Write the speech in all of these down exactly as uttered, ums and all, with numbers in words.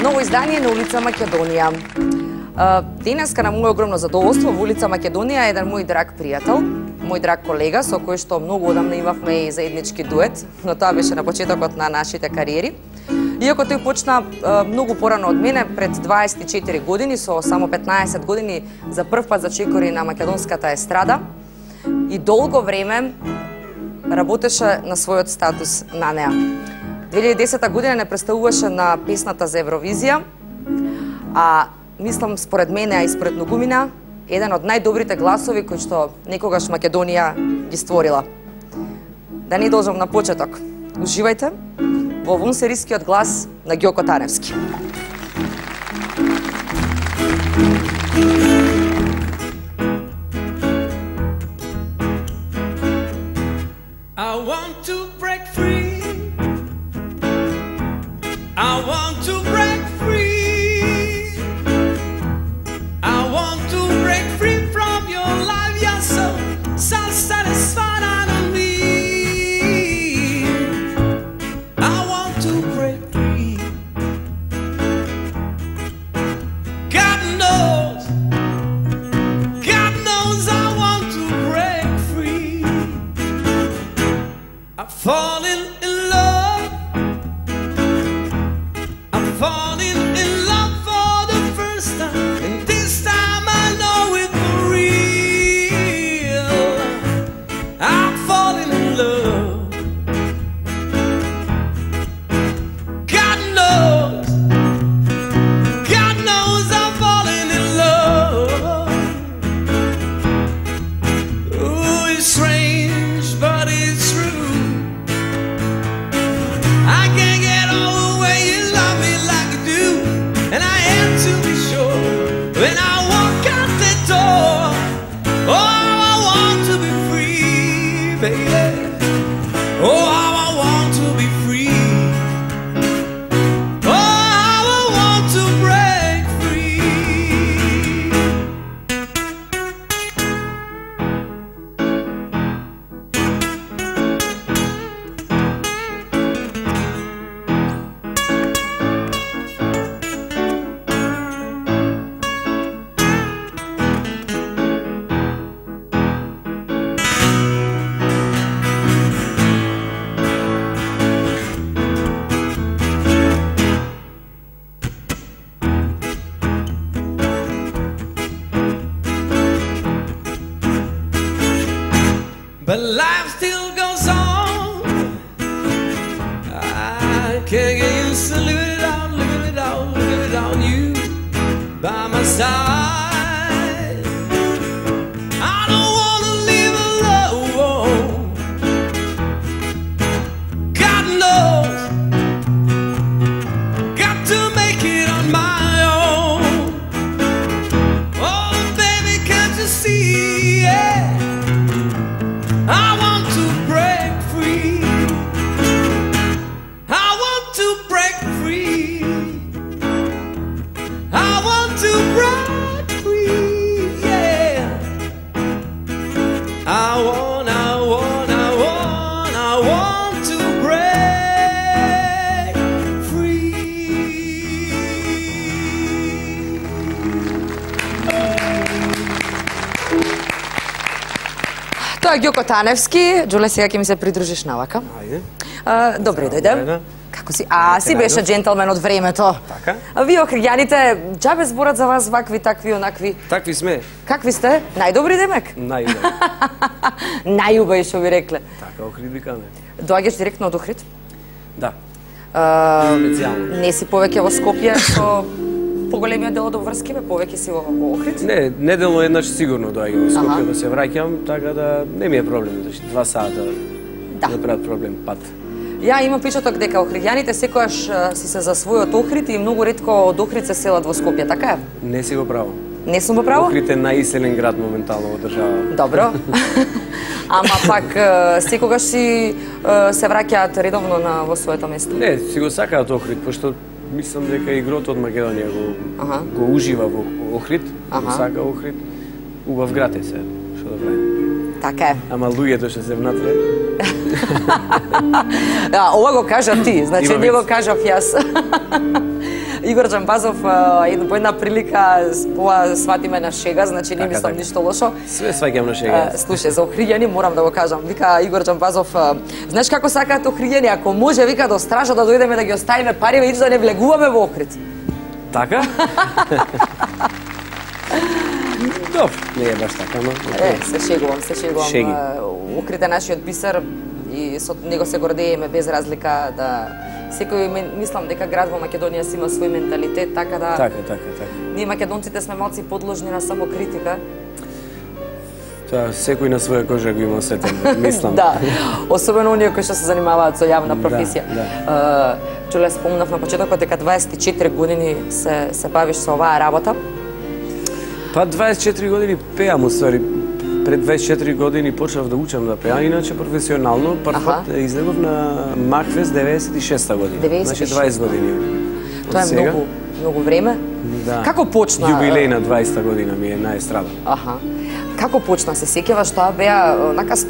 Ново издание на улица Македонија. Денеска на моје огромно задоволство во улица Македонија е еден мој драг пријател, мој драг колега со кој што многу одамна имавме и заеднички дует, но тоа беше на почетокот на нашите кариери. Иако тој почна многу порано од мене, пред дваесет и четири години, со само петнаесет години за прв пат зачекори на македонската естрада и долго време работеше на својот статус на неа. две илјади и десета година не представуваше на песната за Евровизија, а мислам според мене, а и според многумина, еден од најдобрите гласови кои што некогаш Македонија ги створила. Да не должам на почеток. Уживајте во вонсерискиот глас на Ѓоко Таневски. I want to break free. I want to break free. I want to break free from your life. You're so self-satisfied on me. I want to break free. God knows, God knows I want to break free. I've fallen in love. Falling in love for the first time, and this time I know it for real. I'm falling in love. God knows, God knows I'm falling in love. Oh, it's strange, but it's true. I can't get over the way you love me. And I have to be sure when I walk out the door. Oh, I want to be free, baby. Oh, how I want to be free. Oh, how I want to break free. But life still goes on. I can't get used to living it out, living it out, living it out. You by my side. I don't wanna live alone. God knows, got to make it on my own. Oh, baby, can't you see? Yeah. I want to break free. I want to break free. I want to break free. Yeah. I want, I want, I want, I want to break free. Тоа е Ѓоко Таневски. Џуле, сега ќе ми се придружиш навака. Ајде. А, добри дојде. Како си? А, си беше джентълмен од времето. Така. А вие, охриѓаните, џабе зборат за вас вакви, такви, онакви. Такви сме. Какви сте? Најдобри демек? Најубави. Најубави, што би рекле. Така, Охрид викаме. Доаѓаш директно од Охрид? Да. А, Специјално. не си повеќе во Скопје, со поголемиот дел од обврски, бе, повеќе си во, во Охрид? Не, неделно еднаш сигурно доаѓам во Скопје да се враќам, така да не ми е проблем, значи два сата Да. да прават проблем пат. Ја имам впечаток дека охриѓаните секогаш е, си се за својот Охрид и многу ретко од Охрид се селат во Скопје, така е? Не си го право. Не сум во право? Охрид е најиселен град моментално во држава. Добро. Ама пак е, секогаш си е, се враќаат редовно на во своето место. Не, си го сакаат Охрид, пошто мислам дека игрото од Македонија го, Аха. го ужива во Охрид, Аха. го сака Охрид. Убав град е се, што да правим. Така е. Ама луѓето што се внатре. Да, ова го кажа ти, значи Има не го виц. кажав јас. Игор Џамбазов, една по една прилика, ова сватиме на шега, значи не Така, мислам така. ништо лошо. Све сваќам на шега. А, Слушај, за охриѓани морам да го кажам. Вика Игор Џамбазов, а, знаеш како сакаат охриѓани, ако може, вика до стража да дојдеме да ги оставиме пари, и да не влегуваме во Охрид. Така? Добро, не е баш така, но... Е, се шегувам, се шегувам. Шеги. А, Охрид е нашиот бисер и со него се гордееме без разлика да секој мен- мислам дека град во Македонија си има свој менталитет, така да Така, така, така. ние македонците сме малци подложни на самокритика. Тоа секој на своја кожа го има осетен, мислам. Да, особено оние кои што се занимаваат со јавна професија. да. Е, Чуле, спомнав на почетокот дека дваесет и четири години се се бавиш со оваа работа. Па дваесет и четири години пеам, уствари. Пред дваесет и четири години почнав да учам да пеам, иначе професионално. Прв Аха. пат излегов на Макфест деветдесет и шеста година. деветдесет и Значи шеста. дваесет години. Тоа е Од сега. многу многу време. Да. Како почна? Јубилеј на дваесета година ми е на естрада. Аха. Како почна? Се сеќаваш, тоа беа онака с- е,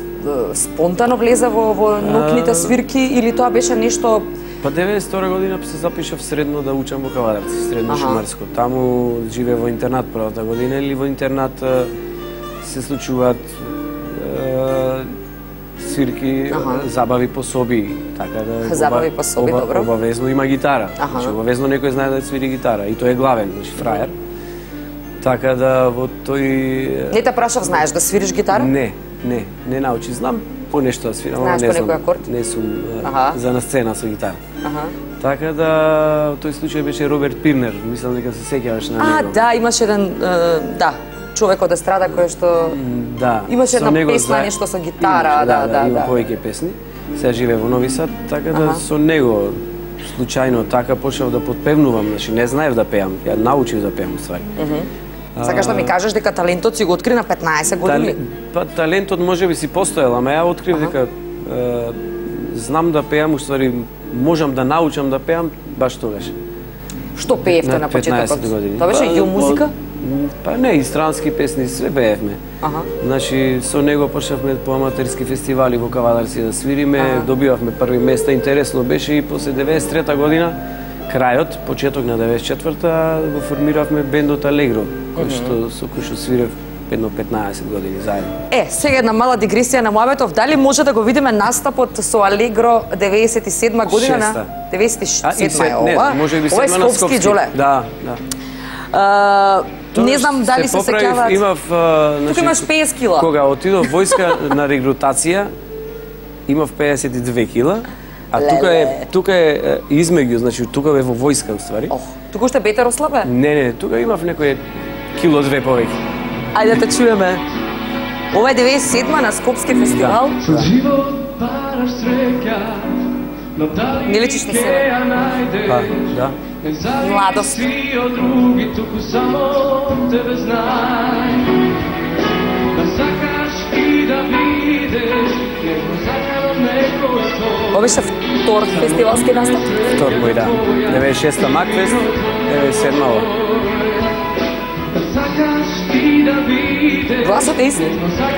спонтано влезе во во ноќните свирки или тоа беше нешто? Па деветдесет и втора година се запишав средно да учам во Кавадарци, средно Аха. шумарско. Таму живеев во интернат првата година, или во интернат е, се случуваат е, свирки, Аха. е, забави по соби, така да Забави по соби, добро. Обавезно има гитара. Аха. Значи обавезно некој знае да свири гитара и тој е главен, значи фрајер. Така да во тој Не те прашав, знаеш да свириш гитара? Не, не, не научи. Знам по нешто да свирам, ама Знаеш не по знам. некој акорд? Не сум е, Аха. за на сцена со гитара. Аха. Така да, тој случај беше Роберт Пирнер, мислам дека се сеќаваш на А, него. да, имаше еден, е, да, човек од естрада кој што Да. Имаше со една него песна, заед- нешто со гитара, Имаше, да, да, има да. повеќе песни. Сега живее во Нови Сад, така да Аха. со него случајно така почнав да подпевнувам, значи не знаев да пеам, ја научив да пеам уствари. сакаш да ми кажеш дека талентот си го откри на петнаесет години? Тале- Па талентот можеби си постоел, ама ја открив Аха. дека е, знам да пеам, уствари можам да научам да пеам баш тогаш. Што пеевте на почетокот? петнаесет години. Тоа беше Па, ју музика? м, Па не, и странски песни све пеевме. Аха. Значи, со него почнавме по аматерски фестивали во Кавадарци да свириме, Аха. добивавме први места, интересно беше и после деветдесет и трета година, крајот, почеток на деветдесет и четврта, го формиравме бендот Алегро, кој што со кој што свирев едно петнаесет години заедно. Е, сега една мала дигресија на Муабетов. Дали може да го видиме настапот со Алегро деветдесет и седма година на Шеста. деветдесет и А, и седма е се- не, ова? може би Ова е седма на Скопски Джоле. Да, да. А, не знам дали се поправив, сеќаваат. Имав, а, значи, имаш петдесет кила. Кога отидов војска на регрутација, имав педесет и две кила, а тука Леле. е тука е е, измеѓу, значи тука е во војска уствари. Ох, туку што бете рослабе? Не, не, тука имав некој кило две повеќе. Ајде да те чуеме. Ова е деветдесет и седма на Скопски фестивал. Со живот бараш среќа, но дали Не личиш на ќе себе. ја најдеш? Па, да. Не зависи Младост. си од други, туку само тебе знај. Да сакаш и да видиш, него сакано некој со. Ова беше втор фестивалски настап. Втор мој, да. деветдесет и шеста Макфест, деветдесет и седма ова. Да сакаш и да видиш. Гласот е ист.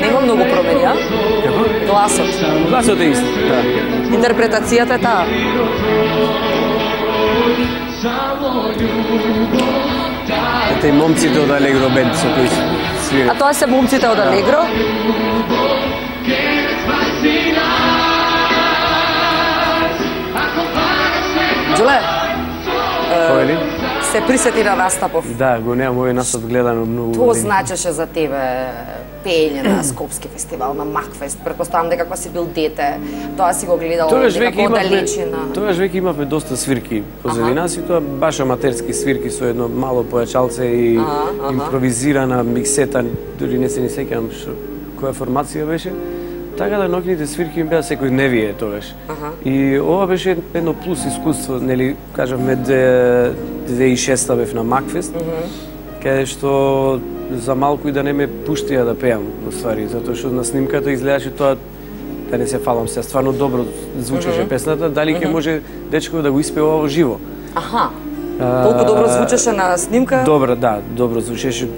Нема многу промени, а? Како? Гласот. Гласот е ист, да. Интерпретацијата е таа. Само љубов, Ете и момците од Алегро бенд со кои А свират. тоа се момците од Алегро. ќе спаси нас. Ако бараш некој Джуле, Кој ли? се присети на настапов. Да, го немам овој настап гледано многу. Тоа години. значеше за тебе пеење на Скопски фестивал, на Макфест. Претпоставам дека кога си бил дете, тоа си го гледал Тогаш веќе некако имавме, оддалечина. тогаш веќе имавме доста свирки позади нас и тоа баш аматерски свирки со едно мало појачалце и Аха, аха. импровизирана миксета, дури не се ни сеќавам што која формација беше. така да ноќните свирки ми беа секојдневие тогаш. Аха. И ова беше едно плюс искуство, нели, кажавме, две тисячи и шеста бев на Макфест, каде што за малку и да не ме пуштија да пеам, во ствари, затоа што на снимката изгледаше тоа, да не се фалам се, стварно добро звучеше песната, дали ќе може дечко да го испева во живо. Аха. Толку добро звучеше на снимка? Добро, да, добро звучеше.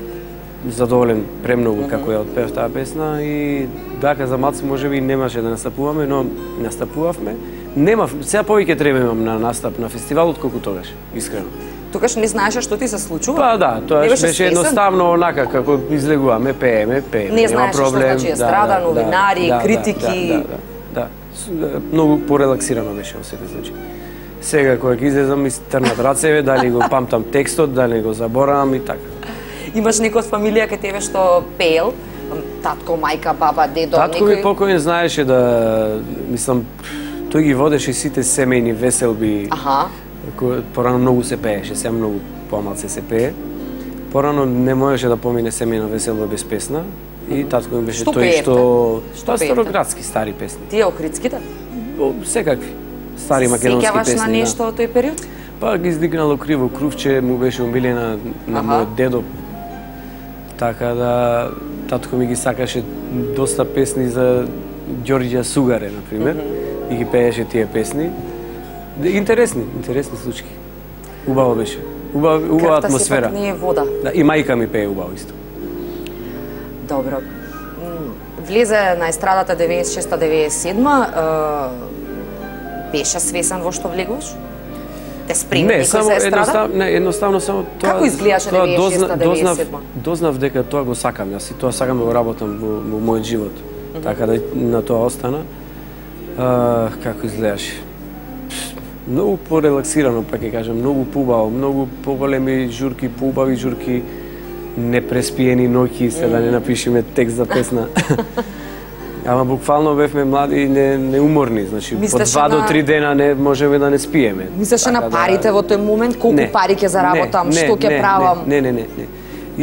Задоволен премногу како ја отпев таа песна и дака за малце можеби немаше да настапуваме, но настапувавме. Немав, сега повеќе треба имам на настап на фестивалот колку тогаш, искрено. Тогаш не знаеше што ти се случува? Па да, тоа беше, беше едноставно онака како излегуваме, пееме, пееме. Не знаеше што значи естрада, да, новинари, да, критики. Да, да, да, да. Многу порелаксирано беше во секој случај. Сега кога ќе излезам ми трнат рацеве, дали го памтам текстот, дали го заборавам и така. Имаш некој од фамилија кај тебе што пеел? Татко, мајка, баба, дедо, Татко некој? ми покојен знаеше да, мислам, тој ги водеше сите семејни веселби. Аха. Порано многу се пееше, сега многу помалце се пее. Порано не можеше да помине семејна веселба без песна. И татко ми беше што тој пеевте? што... Што Тоа пеевте? староградски стари песни. Тие охридските? Секакви. Стари македонски песни. Сеќаваш на нешто од тој период? Па ги издигнало криво крувче, му беше умилена на мојот дедо. Така да татко ми ги сакаше доста песни за Ѓорѓа Сугаре, например, mm -hmm. и ги пееше тие песни. Интересни, интересни случаи. Убаво беше. Убава, убава атмосфера. Крвта сепак не е вода. Да, и мајка ми пее убаво исто. Добро. Влезе на естрадата деветдесет и шеста деветдесет и седма. Беше свесен во што влегуваш? Те спреми не, некој само за естрада? едностав, не, едноставно само тоа. Како изгледаше тоа деветдесет и шеста деветдесет и седма? Дознав, дознав дека тоа го сакам, јас и тоа сакам да го работам во, во мојот живот. Mm -hmm. Така да на тоа остана. А, како изгледаше? Многу порелаксирано, па ќе кажам, многу поубаво, многу поголеми журки, поубави журки, непреспиени ноќи, се да не напишеме текст за песна. Ама буквално бевме млади и не, неуморни, значи по два до три дена не можеме да не спиеме. Мислеше на парите да... во тој момент, колку не, пари ќе заработам, не, што ќе не, правам? Не, не, не, не.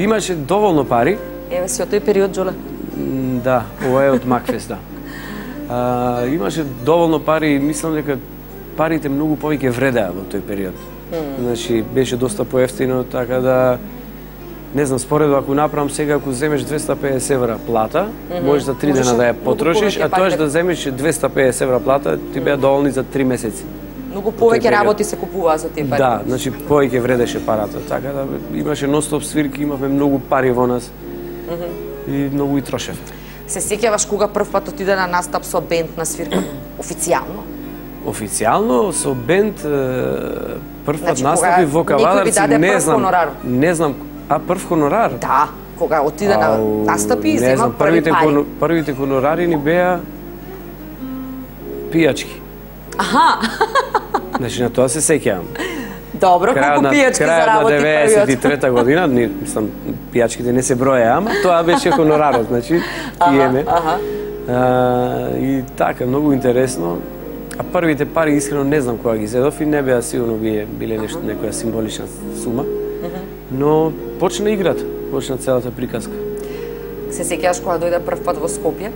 Имаше доволно пари. Еве си од тој период, Джоле. Да, ова е од Макфест, да. А, имаше доволно пари и мислам дека парите многу повеќе вредеа во тој период. Mm. Значи беше доста поевтино, така да не знам, споредба ако направам сега, ако земеш двеста и педесет евра плата, mm -hmm. можеш за три дена да ја потрошиш, а тоа да земеш двеста и педесет евра плата, ти беа доволни за три месеци. Многу повеќе работи се купуваа за тие пари. Да, значи повеќе вредеше парата, така да имаше ностоп свирки, имавме многу пари во нас. Mm -hmm. И многу и трошев. Се сеќаваш кога прв пат отиде на настап со бенд на свирка официјално? Официјално со бенд прв пат значи, настапи во Кавадарци, не знам, хонорар. не знам, а прв хонорар? Да, кога отиде на настапи и зема зема први првите пари. Хон, првите хонорари ни беа пијачки. Аха. Значи на тоа се сеќавам. Добро, колку пијачки заработи првиот? Крајот на деветдесет и трета година, ни, мислам, пијачките не се броја, ама тоа беше хонорарот, значи, пиеме. Аха, аха. И така, многу интересно. А првите пари, искрено, не знам кога ги зедов и не беа сигурно биле, биле нешто, некоја символична сума. Но почна играта, почна целата приказка. Се сеќаваш кога дојде прв пат во Скопје?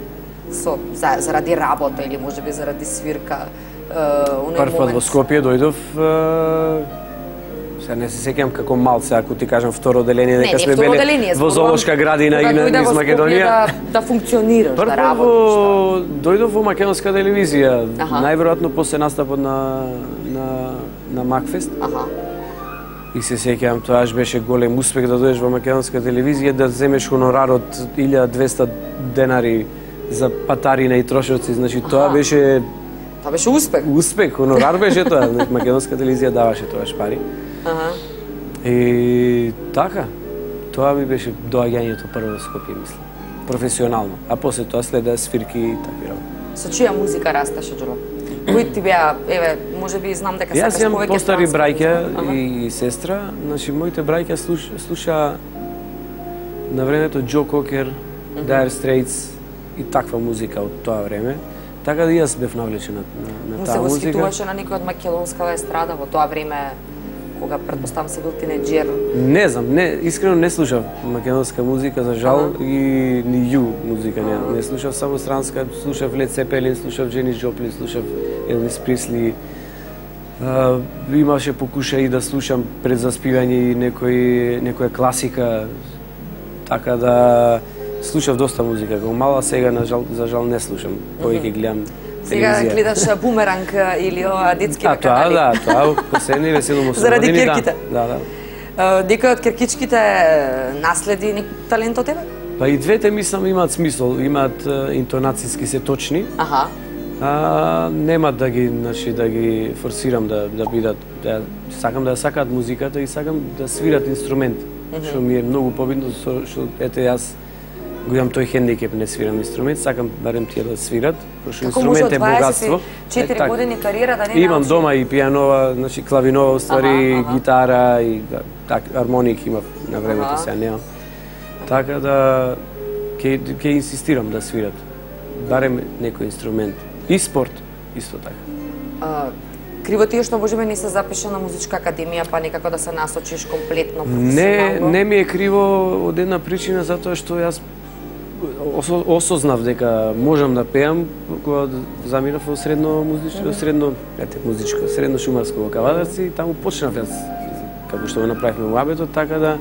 Со, за, заради работа или можеби заради свирка? Е, прв пат во Скопје дојдов... Е, сега не се сеќавам како малце, ако ти кажам второ оделение, дека сме беле во зоолошка градина и на низ Македонија. Да, да функционираш, прв да работиш. Дојдов во македонска телевизија, Аха. најверојатно после настапот на, на, на Макфест. Аха. И се сеќавам, тоа беше голем успех да дојдеш во македонска телевизија, да земеш хонорар од илјада и двесте денари за патарина и трошоци, значи Аха. Тоа беше... Тоа беше успех. Успех, хонорар беше тоа, македонска телевизија даваше тоаш пари. Аха. И така, тоа ми беше доаѓањето прво во Скопје, мислам, професионално, а после тоа следеа свирки и такви работи. Со чија музика растеше, Џоло? Кои ти беа, еве, можеби знам дека сакаш повеќе. Јас имам постари браќа и сестра, значи моите браќа слуш, слуша на времето Џо Кокер, mm -hmm. Dire Straits и таква музика од тоа време. Така да и јас бев навлечен на, на, на таа музика. Му се восхитуваше на некој од македонскава естрада во тоа време кога претпоставам си бил тинеџер? Не знам, не, искрено не слушав македонска музика, за жал, ага. И ни ју музика не, не слушав, само странска, слушав Лед Цепелин, слушав Дженис Джоплин, слушав Елвис Присли. Uh, имаше покушаи да слушам пред заспивање и некој, некоја класика, така да слушав доста музика. Кога мала, сега на жал, за жал не слушам, повеќе гледам телевизија. Сега гледаш Бумеранг или ова детски а, канали? А, тоа, да, тоа, последни весело му заради кирките? Да, да. Uh, Некој од киркичките наследи ник талент од тебе? Па и двете мислам имаат смисол, имаат интонацијски се точни. Аха. А, нема да ги, значи, да ги форсирам да да бидат, да сакам да сакаат музиката и сакам да свират инструмент, mm -hmm. што ми е многу побитно, што ете јас го имам тој хендикеп, не свирам инструмент, сакам барем тие да свират, пошто инструмент е богатство. четири е, години кариера да не имам научи? дома и пијанова, значи клавинова, уствари, ага, ага. гитара и да, так армоник имав на времето, ага. Сега немам. Така да ќе ќе инсистирам да свират барем некој инструмент. И спорт, исто така. А, криво ти е што можеме не се запише на музичка академија, па некако да се насочиш комплетно професионално? Не, не ми е криво од една причина, затоа што јас осо, осознав дека можам да пеам кога заминав во средно музичко, средно, ете, музичко, средно шумарско во Кавадарци и таму почнав јас како што го направивме во Абето, така да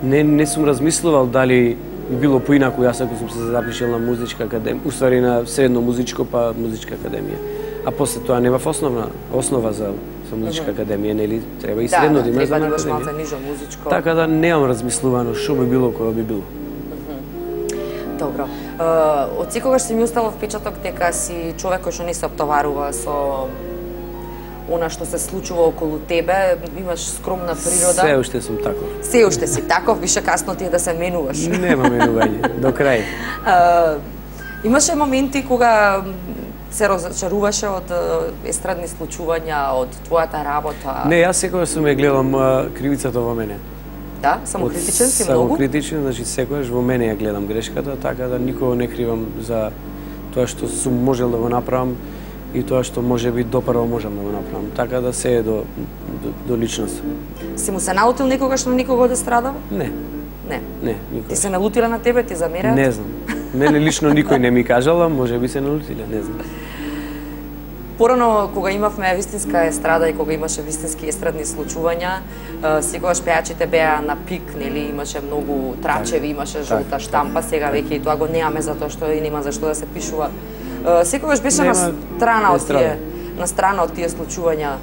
не не сум размислувал дали би било поинаку јас ако сум се запишал на музичка академија, уствари на средно музичко па музичка академија. А после тоа немав основна основа за за музичка академија, нели треба и средно да имаш за академија. Нижо музичко. Така да немам размислувано што би било кога би било. Добро. Од секогаш си ми оставил впечаток дека си човек кој што не се оптоварува со она што се случува околу тебе, имаш скромна природа. Се уште сум таков. Се уште си таков, више касно ти е да се менуваш. Нема менување, до крај. А, имаше моменти кога се разочаруваше од естрадни случувања, од твојата работа? Не, јас секогаш сум ја гледам кривицата во мене. Да, самокритичен си многу? Самокритичен, значи секогаш во мене ја гледам грешката, така да никого не кривам за тоа што сум можел да го направам и тоа што може би допрво можам да го направам. Така да се е до, до, до личност. Си му се налутил некогаш на никого да страдава? Не. Не? Не, никогаш. Ти се налутила на тебе, ти замераат? Не знам. Мене лично никој не ми кажала, може би се налутиле, не знам. Порано, кога имавме вистинска естрада и кога имаше вистински естрадни случувања, секогаш пејачите беа на пик, нели, имаше многу трачеви, имаше жолта так, штампа, сега веќе и тоа го немаме затоа што и нема за што да се пишува. Секогаш беше нема на страна од тие, на страна од тие случувања.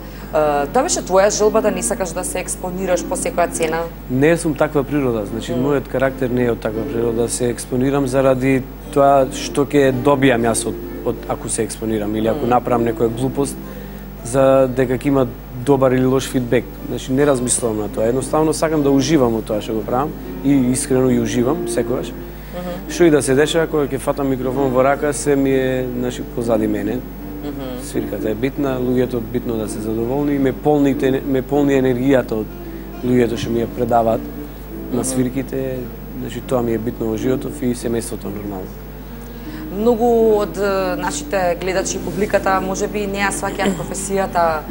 Тоа беше твоја желба да не сакаш да се експонираш по секоја цена? Не сум таква природа, значи mm. мојот карактер не е од таква природа да се експонирам заради тоа што ќе добијам јас од, од ако се експонирам или ако mm. направам некоја глупост за дека ќе има добар или лош фидбек. Значи не размислувам на тоа, едноставно сакам да уживам од тоа што го правам и искрено и уживам секогаш. Mm-hmm. Што и да се дешава кога ќе фатам микрофон во рака, се ми е значи позади мене. Mm-hmm. Свирката е битна, луѓето битно да се задоволни и ме полни, ме полни енергијата од луѓето што ми ја предаваат mm-hmm. на свирките, значи тоа ми е битно во животот и семејството нормално. Многу од нашите гледачи и публиката можеби не ја сваќаат професијата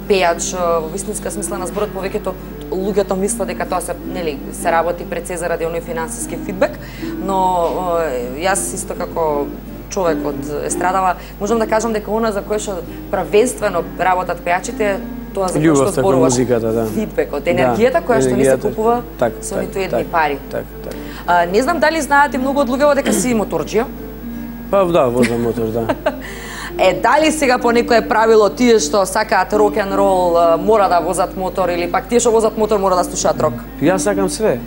пејач во вистинска смисла на зборот, повеќето луѓето мислат дека тоа се, нели, се работи пред се заради оној финансиски фидбек, но јас исто како човек од естрадава, можам да кажам дека она за кое што правенствено работат пејачите, тоа за кое што зборуваш, да. Фидбекот, енергијата да, која што не се купува так, со так, ниту едни так, пари. Так, так. А, не знам дали знаат и многу од луѓето дека си моторџија? Па да, возам мотор, да. Е, дали сега по некое правило тие што сакаат рок-н-рол мора да возат мотор или пак тие што возат мотор мора да слушаат рок? Јас сакам све.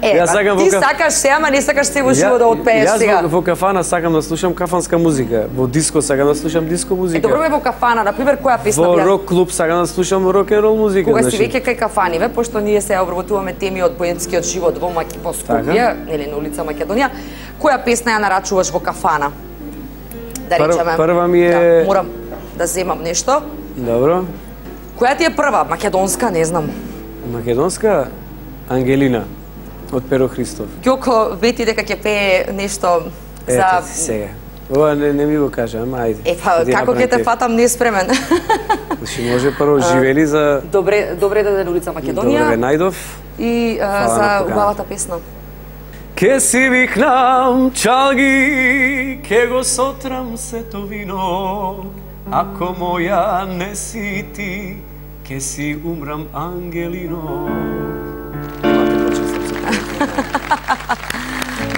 Е, па, ти каф... сакаш се, ама не сакаш се во живот да отпееш сега. Јас во, во кафана сакам да слушам кафанска музика, во диско сакам да слушам диско музика. Е, добро бе во кафана, например, која песна во бија? Во рок клуб сакам да слушам рок-н-рол музика. Кога значи... си веќе кај кафаниве, пошто ние се обработуваме теми од поетскиот живот во Маки во Скопје, нели на улица Македонија, која песна ја нарачуваш во кафана? Да речеме. Пр прва ми е... Да, морам да земам нешто. Добро. Која ти е прва? Македонска, не знам. Македонска? Ангелина. Од Перо Христов. Ѓоко вети дека ќе пее нешто за... Ете, сега. Ова не, не ми го кажа, ама ајде. Е, па, како ќе те фатам неспремен? Значи, може прво живели за... Добре, добре да улица Македонија. Добре ве најдов. И а, за убавата песна. Ке си викнам чалги, ке го сотрам сето вино. Ако моја не си ти, ке си умрам ангелино.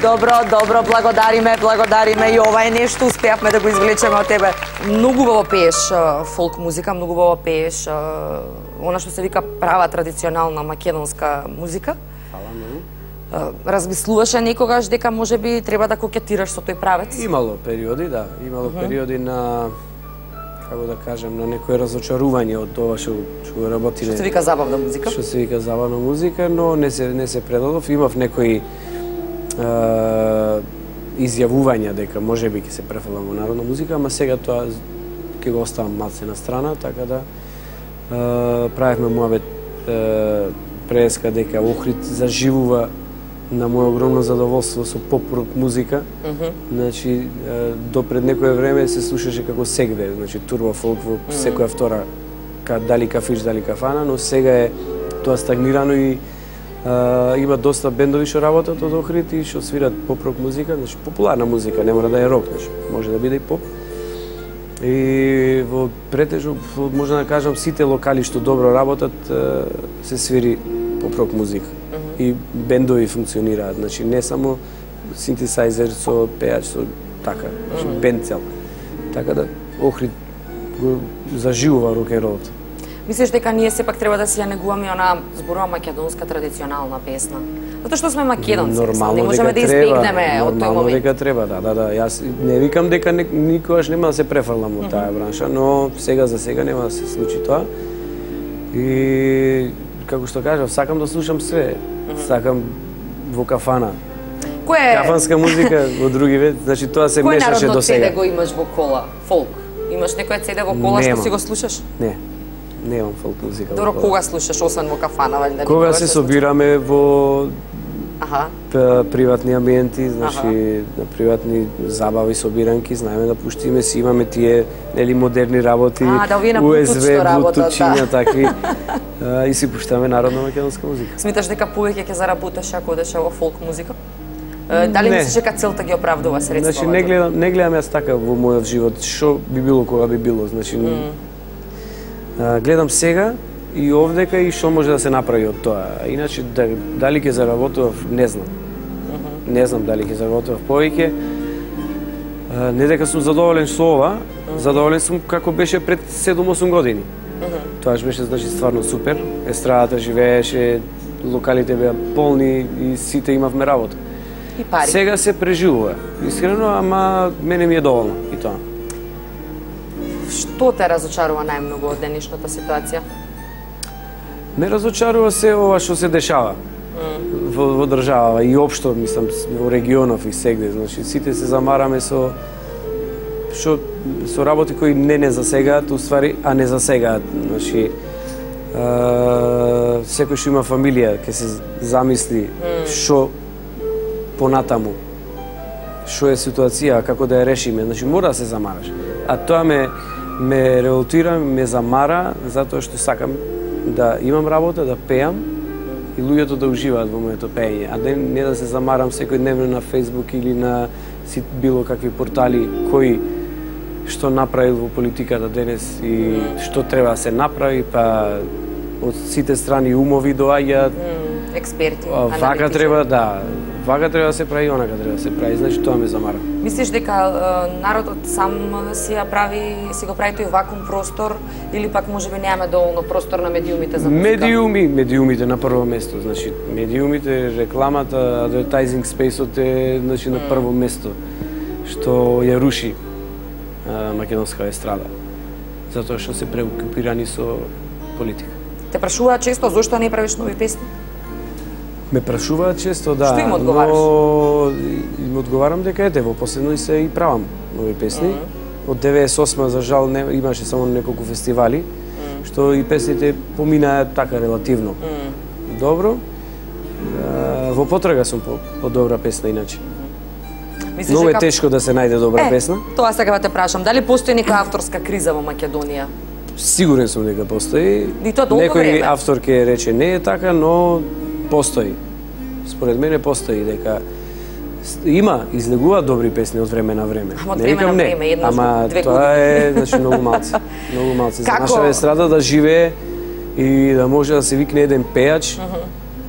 Добро, добро, благодариме, благодариме. И ова е нешто, успеавме да го извлечеме од тебе. Многу убаво пееш фолк музика, многу убаво пееш она што се вика права традиционална македонска музика. Фала многу. Размислуваше некогаш дека можеби треба да кокетираш со тој правец? Имало периоди, да. Имало uh -huh. периоди на, како да кажем, на некое разочарување од тоа што што го работиме. Што се вика забавна музика? Што се вика забавна музика, но не се не се предадов. Имав некои Uh, изјавувања дека можеби ќе се префрлам во народна музика, ама сега тоа ќе го оставам малце на страна, така да uh, правевме муабет uh, преска дека Охрид заживува на моје огромно задоволство со поп-рок музика. Mm -hmm. Значи, uh, до пред некое време се слушаше како сегде, значи турбо фолк во mm -hmm. секоја втора, ка, дали кафиш, дали кафана, но сега е тоа стагнирано и Uh, има доста бендови што работат од Охрид и што свират поп-рок музика, значи популарна музика, не мора да е рок, значи може да биде и поп. И во претежно, може да кажам, сите локали што добро работат, uh, се свири поп-рок музика. Uh -huh. И бендови функционираат, значи не само синтесајзер со пејач, со така, значи uh -huh. бенд цел. Така да Охрид го заживува рок-н-ролот. Мислиш дека ние сепак треба да си ја негуваме она зборува македонска традиционална песна? Затоа што сме македонци, нормално не можеме да избегнеме од тој нормално момент. дека треба, да, да, да. Јас не викам дека не, никогаш нема да се префрлам од таа бранша, но сега за сега нема да се случи тоа. И како што кажав, сакам да слушам све. Сакам во кафана. Кој е Кафанска музика во други вид, значи тоа се мешаше до сега. Кој народно цеде го имаш во кола? Фолк. Имаш некој цеде во кола Нема. што си го слушаш? Не. Немам фолк музика. Добро, кога слушаш освен во кафана, вали? Кога се собираме во Аха. приватни амбиенти, значи на приватни забави, собиранки, знаеме да пуштиме, си имаме тие нели модерни работи, А, да, овие на У Ес Bluetooth Би, што работат, блутучиња, да. такви, а, и си пуштаме народна македонска музика. Смиташ дека повеќе ќе заработиш ако одеш во фолк музика? Е, Дали Не. мислиш дека целта ги оправдува средствата? Значи не гледам, не гледам јас така во мојот живот, што би било кога би било, значи Mm. а, гледам сега и овдека и што може да се направи од тоа. Иначе да, дали ќе заработував, не знам. Не знам дали ќе заработував повеќе. А, Не дека сум задоволен со ова, задоволен сум како беше пред седум-осум години. Тоа беше значи стварно супер. Естрадата живееше, локалите беа полни и сите имавме работа. И пари. Сега се преживува, искрено, ама мене ми е доволно и тоа. Што те разочарува најмногу од денешната ситуација? Ме разочарува се ова што се дешава во, во држава и општо, мислам, во регионов и сегде. Значи, сите се замараме со што со работи кои не не засегаат, уствари, а не засегаат. Значи, а, секој што има фамилија ќе се замисли што понатаму, што е ситуација, како да ја решиме. Значи, мора да се замараш. А тоа ме ме револтира, ме замара, затоа што сакам да имам работа, да пеам и луѓето да уживаат во моето пеење, а не, не да се замарам секојдневно на Facebook или на си било какви портали кои што направил во политиката денес и што треба да се направи, па од сите страни умови доаѓаат. Експерти, Вака аналитичари. треба, да, вака треба да се прави, онака треба да се прави, значи тоа ме замара. Мислиш дека е, народот сам си ја прави, си го прави тој вакуум простор или пак можеби немаме доволно простор на медиумите за музика? Медиуми, медиумите на прво место, значи медиумите, рекламата, advertising спејсот е значи на прво место што ја руши а, македонска естрада. Затоа што се преокупирани со политика. Те прашуваат често зошто не правиш нови песни? Ме прашуваат често, да. Што им одговараш? Но им одговарам дека ете, во последно и се и правам нови песни. Mm -hmm. Од деветдесет и осма за жал не, имаше само неколку фестивали, mm -hmm. што и песните поминаат така релативно. Mm -hmm. Добро. А, во потрага сум по, по добра песна иначе. Мислиш Многу е дека- тешко да се најде добра Е, песна. Тоа сега те прашам, дали постои некоја авторска криза во Македонија? Сигурен сум дека постои. И тоа долго Некој време. автор ќе рече не е така, но постои. Според мене постои дека с- има, излегува добри песни од време на време. Ама од Не време викам на не, време, еднаш ама во две тоа години. е значи многу малци. Многу малци за Како? наша естрада да живее и да може да се викне еден пејач,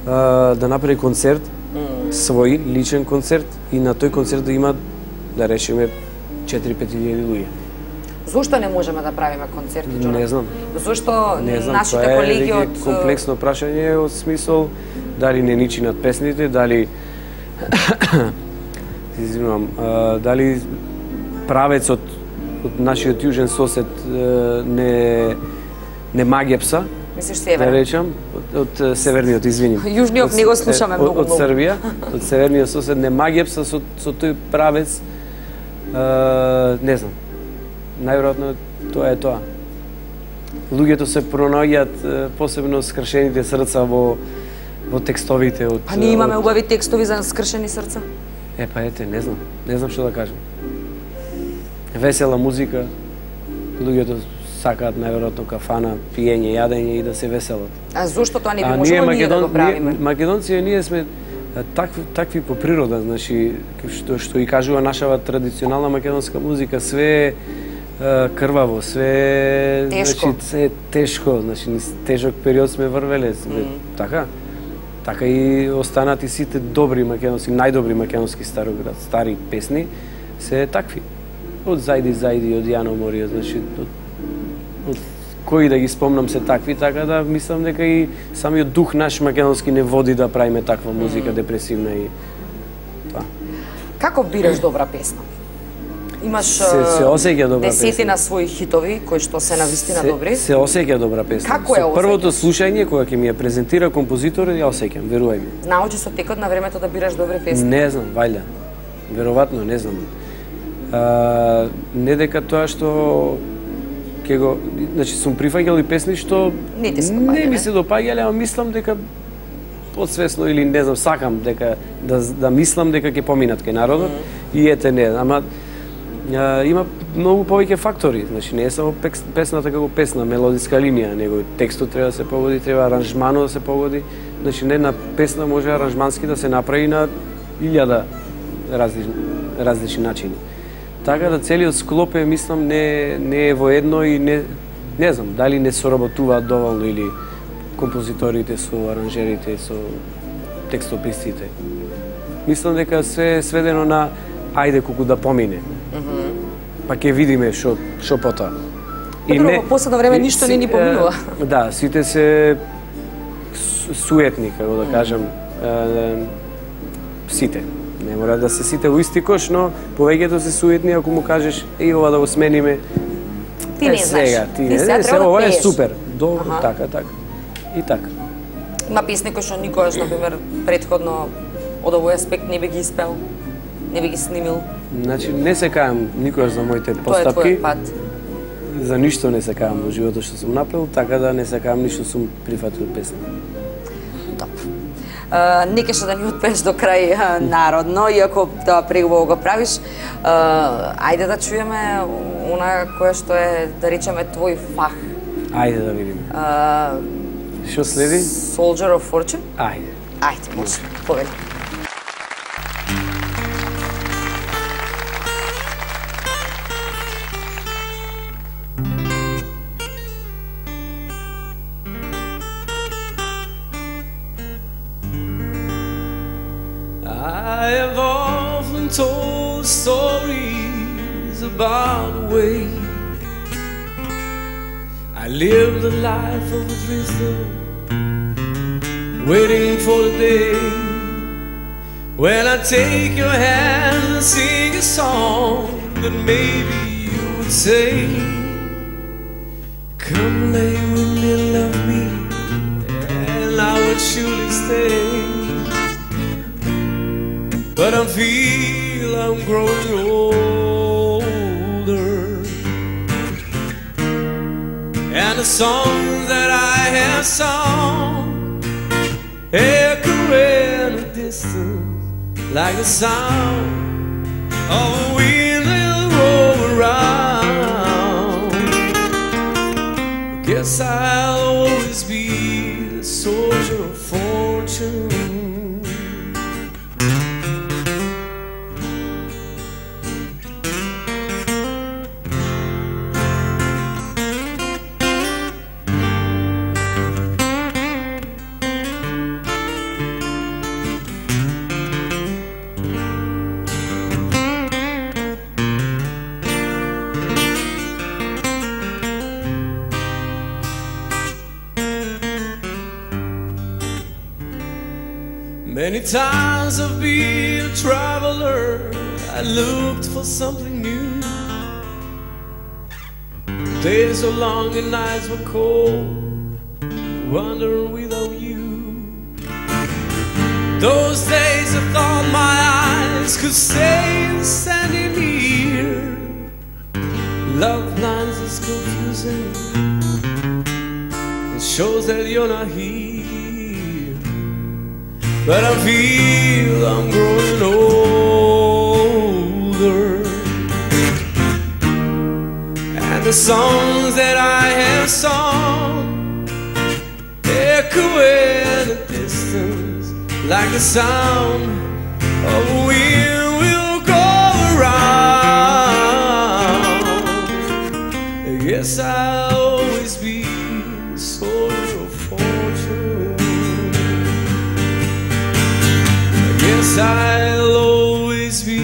а, да направи концерт, свој личен концерт и на тој концерт да има да речеме четири-пет илјади луѓе. Зошто не можеме да правиме концерти, Џона? Не знам. Зошто Не знам, нашите тоа е колеги веќе од комплексно прашање од смисол дали не ни чинат песните, дали извинувам, а, дали правецот од нашиот јужен сосед а, не не магепса, мислиш да северен? речам, од, од северниот, извиним. Јужниот Од- не го слушаме од- многу, Од многу. Србија, од северниот сосед не магепса со, со тој правец, а, не знам. Најверојатно тоа е тоа. Луѓето се пронаоѓаат е, посебно скршените срца во во текстовите од Па ние имаме од- убави текстови за скршени срца. Е па ете, не знам, не знам што да кажам. Весела музика, луѓето сакаат најверојатно кафана, пиење, јадење и да се веселат. А зошто тоа не би А можело ние да го правиме? ние, македонци, ние сме а, такви, такви по природа, значи, што, што и кажува нашава традиционална македонска музика, све е а, крваво, све е, Тешко. значи, се е тешко, значи, низ тежок период сме врвеле, сме, Mm. така? Така и останат и сите добри македонски, најдобри македонски староград, стари песни, се такви. Од Зајди Зајди, од Јано Морио, значи, од, од кои да ги спомнам се такви, така да мислам дека и самиот дух наш македонски не води да правиме таква музика депресивна и тоа. Како бираш добра песна? Имаш Се- се осеќа добра десетина песна. своји хитови кои што се навистина Се, добри. се осеќа добра песна. Како ја Со првото осеќаш? слушање кога ќе ми ја презентира композитор, ја осеќам, верувај ми. Научи со текот на времето да бираш добри песни. Не знам, вајда. Веројатно, не знам. А, не дека тоа што ќе го, значи сум прифаќал и песни што Не ти се не допаѓале? ми се допаѓале, ама мислам дека подсвесно или не знам, сакам дека да да мислам дека ќе поминат кај народот и ете не, ама а, има многу повеќе фактори, значи не е само пекс, песната како песна, мелодиска линија, него текстот треба да се погоди, треба аранжманот да се погоди, значи не една песна може аранжмански да се направи на илјада различни, различни начини. Така да целиот склоп е, мислам, не, не е воедно и не, не знам, дали не соработуваат доволно или композиторите со аранжерите, со текстописците. Мислам дека се е сведено на ајде колку да помине. Па ќе видиме што што потоа. Па друго, во последно време и ништо си- не ни поминува. е, Да, сите се су- суетни, како да кажам, е, сите. Не мора да се сите во исти кош, но повеќето се суетни ако му кажеш еј ова да го смениме. Ти е, не знаеш. Сега, ти, Ти не, сега не, треба се, да ова е пееш. супер. Добро, Аха. така, така. И така. Има песни кои што никогаш, например, предходно од овој аспект не би ги испел, не би ги снимил. Значи, не се кајам никогаш за моите Тоа е постапки. твојот пат. За ништо не се кајам во животот што сум направил, така да не се кајам ништо сум прифатил песна. Добро. Uh, не кеше да ни отпееш до крај а, народно, иако тоа преубаво го правиш. Uh, ајде да чуеме она кое што е, да речеме, твој фах. Ајде да видиме. Uh, Што следи? Soldier of Fortune? Ајде. Ајде, може. Повели. I have often told stories about the way I lived a life of a drifter, waiting for the day when I take your hand and sing a song that maybe you would say, come lay with me, love me, and I would surely stay. But I feel I'm growing older, and the songs that I have sung echo in the distance like the sound of a wheel will roll around. Guess I'll always be the soldier of fortune. Many times I've been a traveler, I looked for something new. Days were long and nights were cold, wandering without you. Those days I thought my eyes could say the standing near. Love lines is confusing, it shows that you're not here. But I feel I'm growing older, and the songs that I have sung echo in the distance like the sound of a wheel will go around. Yes, I'll always be a soldier of fortune. Yes, I'll always be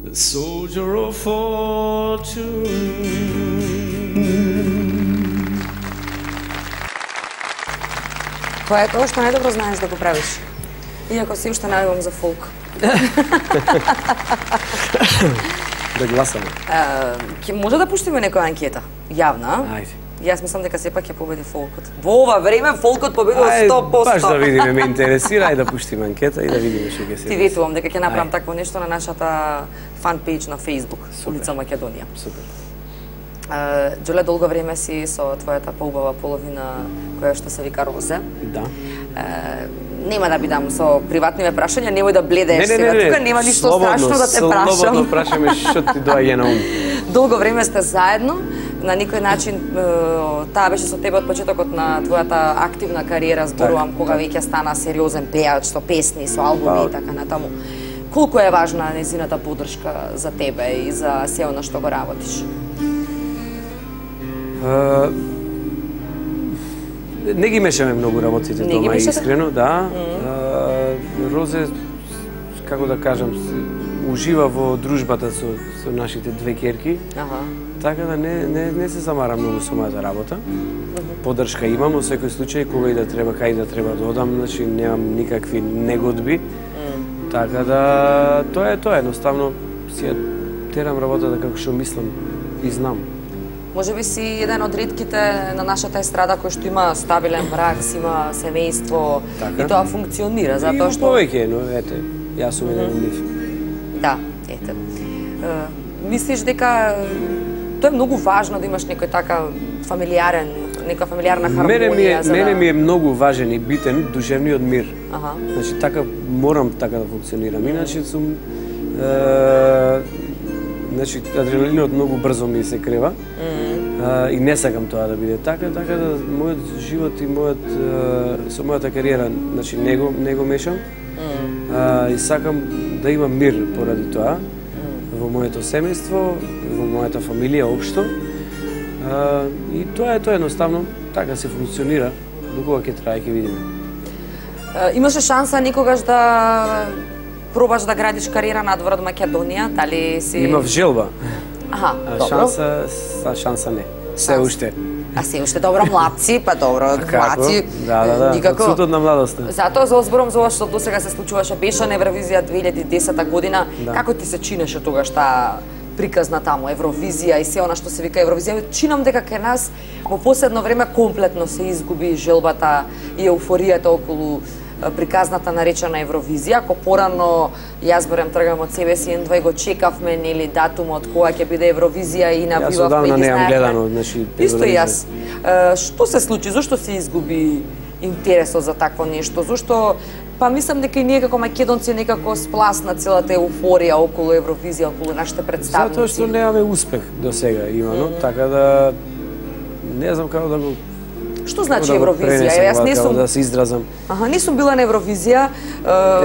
the soldier of fortune. Кој е тоа што најдобро знаеш да го правиш? Иако си уште најавам за фолк. Да гласаме. Ќе може да пуштиме некоја анкета? Јавна? Ајде. Јас мислам дека сепак ќе победи фолкот. Во ова време фолкот победува Ај, сто проценти. Баш да видиме, ме интересира, и да пуштиме анкета и да видиме што ќе се. Ти ветувам дека ќе направам Ај. такво нешто на нашата фан пејдж на Facebook, Улица Македонија. Супер. Џоле, долго време си со твојата поубава половина која што се вика Розе. Да. Е, нема да бидам со приватни прашања, немој да бледеш Не, не, сега. не, не. Тука нема ништо Слободно, страшно да те прашам. Слободно прашаме што ти доаѓа на ум. Долго време сте заедно, на никој начин е, таа беше со тебе од почетокот на твојата активна кариера, зборувам Так, кога веќе стана сериозен пејач со песни, со албуми Па, и така натаму. Колку е важна незината поддршка за тебе и за се она што го работиш? Uh, не ги мешаме многу работите Не ги дома, мешате? искрено, да. Uh, Розе, како да кажам, ужива во дружбата со, со нашите две ќерки, Аха. така да не, не, не се замара многу со мојата работа. Поддршка имам, во секој случај, кога и да треба, кај да треба да одам, значи немам никакви негодби. Така да, тоа е тоа, едноставно си ја терам работата како што мислам и знам. Може би си еден од ретките на нашата естрада кој што има стабилен брак, си има семејство Така. и тоа функционира, затоа Има што... повеќе, но ете, јас сум еден од нив. Да, ете. Е, мислиш дека тоа е многу важно да имаш некој така фамилиарен, нека фамилиарна Мене ми е, хармонија за мене да... ми е многу важен и битен душевниот мир. Аха. Значи така морам така да функционирам. Иначе сум е, значи адреналинот многу брзо ми се крева. Mm. Е, и не сакам тоа да биде така, така да мојот живот и мојот е, со мојата кариера, значи не го не го мешам. Mm. Е, и сакам да имам мир поради тоа mm. во моето семејство, во мојата фамилија општо. Uh, и тоа е тоа едноставно, така се функционира, до кога ќе трае ќе видиме. Е, имаше шанса никогаш да пробаш да градиш кариера надвор од Македонија, дали си... Имав желба, Аха, а добро. шанса, са, шанса не. Се Шанса. уште. А се уште добро младци, па добро, младци. Да, да, да, никако. од цутот на младоста. Затоа за зборам за ова што досега се случуваше, беше на Евровизија две илјади и десета година. Да. Како ти се чинеше тогаш таа приказна таму, Евровизија и се она што се вика Евровизија? Чинам дека кај нас во последно време комплетно се изгуби желбата и еуфоријата околу е, приказната наречена Евровизија. Ако порано јас барем тргам од себе си, едва го чекавме нели датумот кога ќе биде Евровизија и Јас набивавме одавна и ги немам знаевме. гледано, значи Исто и телевизија. јас. Е, што се случи? Зошто се изгуби интересот за такво нешто? Зошто Па мислам дека и ние како македонци некако спласна целата еуфорија околу Евровизија, околу нашите представници. Затоа што немаме успех до сега, имано, mm. така да не знам како да го Што значи да Евровизија? Јас не сум да се изразам. Аха, не сум била на Евровизија.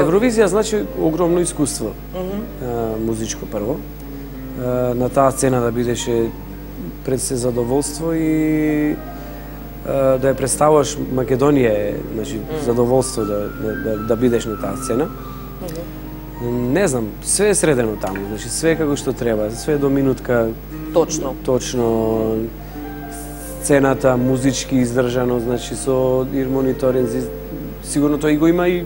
Евровизија значи огромно искуство. Mm -hmm. Музичко прво. На таа сцена да бидеше пред се задоволство и да ја представуваш Македонија, значи mm. задоволство да, да, да бидеш на таа сцена. Mm -hmm. Не знам, све е средено таму, значи све како што треба, све до минутка. Точно. Точно. Сцената музички издржано, значи со ир мониторинг, сигурно тој го има и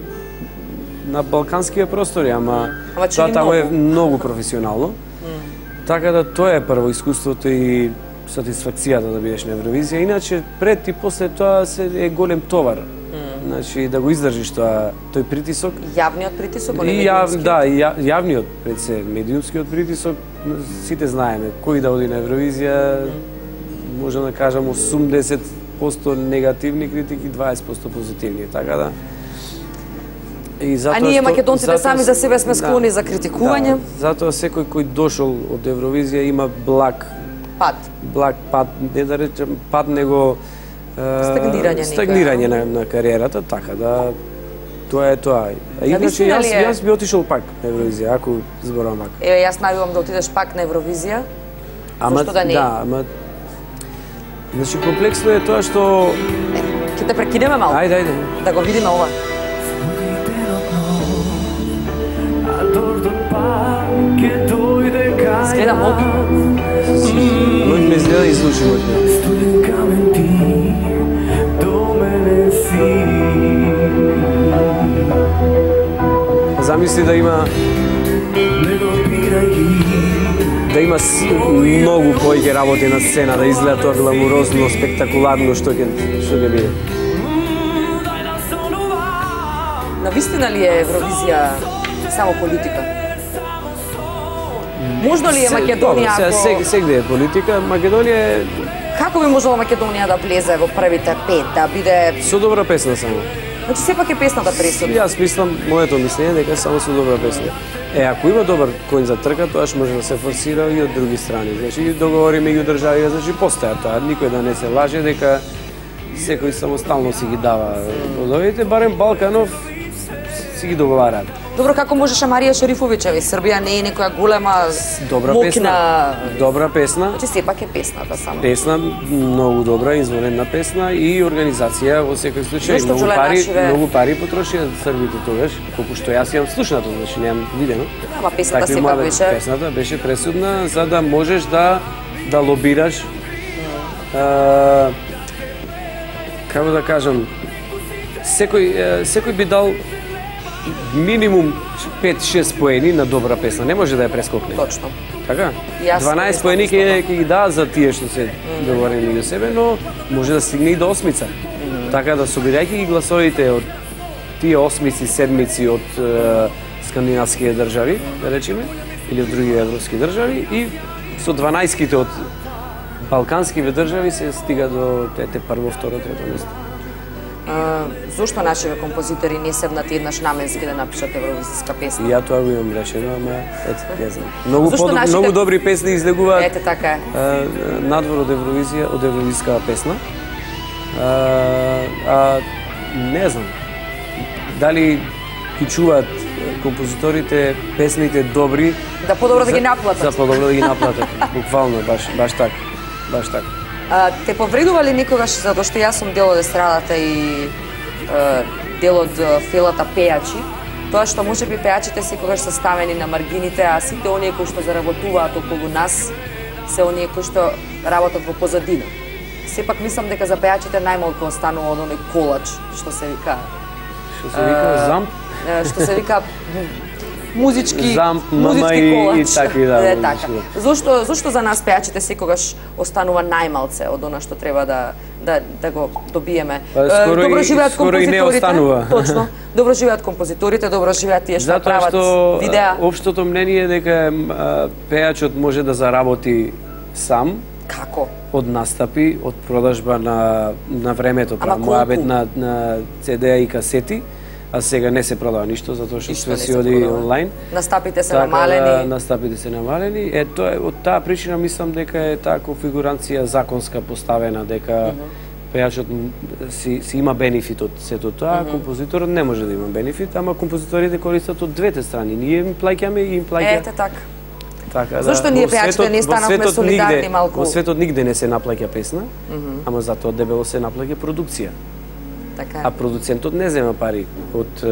на балканските простори, ама, ама тоа таму е многу професионално. Mm. Така да тоа е прво искуството и сатисфакцијата да бидеш на Евровизија. Иначе пред и после тоа се е голем товар. Mm. Значи да го издржиш тоа тој притисок. Јавниот притисок, и јав, да, ја, јавниот пред се, медиумскиот притисок, сите знаеме кој да оди на Евровизија. Mm. Можем да кажам осумдесет проценти негативни критики, дваесет проценти позитивни, така да. И затоа а ние македонците затоа, сами за себе сме склони да, за критикување. Да, затоа секој кој дошол од Евровизија има благ пат. Благ пат, не да речем пат, него стагнирање, стагнирање на, на кариерата, така да тоа е тоа. А иначе јас е... јас би отишол пак на Евровизија, ако зборувам пак. Еве јас најавам да отидеш пак на Евровизија. Ама Зошто да не? Да, ама значи комплексно е тоа што ќе те прекинеме малку. Ајде, ајде. Да го видиме ова. Изгледа модно. Модно ме изгледа и звучи модно. Замисли да има да има многу кој ќе работи на сцена, да изгледа тоа гламурозно, спектакуларно што ќе што ќе биде. Навистина ли е Евровизија само политика? Можно ли е Македонија ако... Сега сегде е политика, Македонија е... Како би можела Македонија да влезе во првите пет, да биде... Со добра песна само. Значи сепак е песната пресудна. Јас мислам, моето мислење дека само со добра песна. Е, ако има добар коњ за трка, тоаш може да се форсира и од други страни. Значи, договори меѓу држави, значи постоја тоа. Никој да не се лаже дека секој самостално си ги дава водовите, барем Балканов си ги договараат. Добро, како можеше Марија Шерифовичева? Србија не е некоја голема добра мокна... песна. Добра песна. Значи сепак е песната само. Песна, многу добра, извонена песна и организација во секој случај. Многу пари, нашиве... многу пари потрошија србите тогаш, колку што јас имам слушнато, значи немам видено. Ама песната сепак беше... Песната беше пресудна за да можеш да да лобираш. Mm. А, како да кажам, секој секој би дал минимум пет-шест поени на добра песна, не може да ја прескокне. Точно. Така? дванаесет поени ќе ќе ги дадат за тие што се mm. договорени меѓу себе, но може да стигне и до осмица. Mm. Така да собирајќи ги гласовите од тие осмици, седмици од е, скандинавските држави, да речеме, или од други европски држави и со дванаесетките од балканските држави се стига до тете прво, второ, трето место. Uh, зошто нашиве композитори не седнат еднаш наменски да напишат евровизиска песна? И ја тоа го имам решено, ама ете, не знам. Многу подоб... нашите... многу добри песни излегуваат. Ете така е. Uh, надвор од Евровизија, од евровизискава песна. Uh, а не знам. Дали ги чуваат композиторите песните добри? Да подобро за... да ги наплатат. За подобро да ги наплатат. Буквално баш баш така. Баш така. А, те повредува ли некогаш, затоа што јас сум дел од естрадата и е, дел од фелата пејачи, тоа што можеби пејачите секогаш се ставени на маргините, а сите оние кои што заработуваат околу нас се оние кои што работат во позадина. Сепак мислам дека за пејачите најмалку останува од оној колач, што се вика. Што се вика замп? Што се вика музички, замп, музички и, колач. И такви, да, е, така. Зошто, зошто за нас пејачите секогаш останува најмалце од она што треба да да да го добиеме? Па, скоро добро живеат и, скоро и не останува. Точно. Добро живеат композиторите, добро живеат тие што прават што, видеа. Општото мнение е дека пејачот може да заработи сам. Како? Од настапи, од продажба на на времето, муабет на на це де и касети. а сега не се продава ништо затоа што Ништо све не си се оди продава. онлайн. Настапите се Така намалени. да, настапите се намалени. Е тоа е од таа причина мислам дека е таа конфигурација законска поставена дека uh -huh. пејачот си си има бенефит од сето тоа, uh -huh. композиторот не може да има бенефит, ама композиторите користат од двете страни. Ние им плаќаме и им плаќа. Ете така. Така, Зошто да, ние во пејачите светот- не во станавме светот солидарни нигде- малку? Во светот нигде не се наплаќа песна, Mm -hmm. ама затоа дебело се наплаќа продукција. Така. А продуцентот не зема пари од е,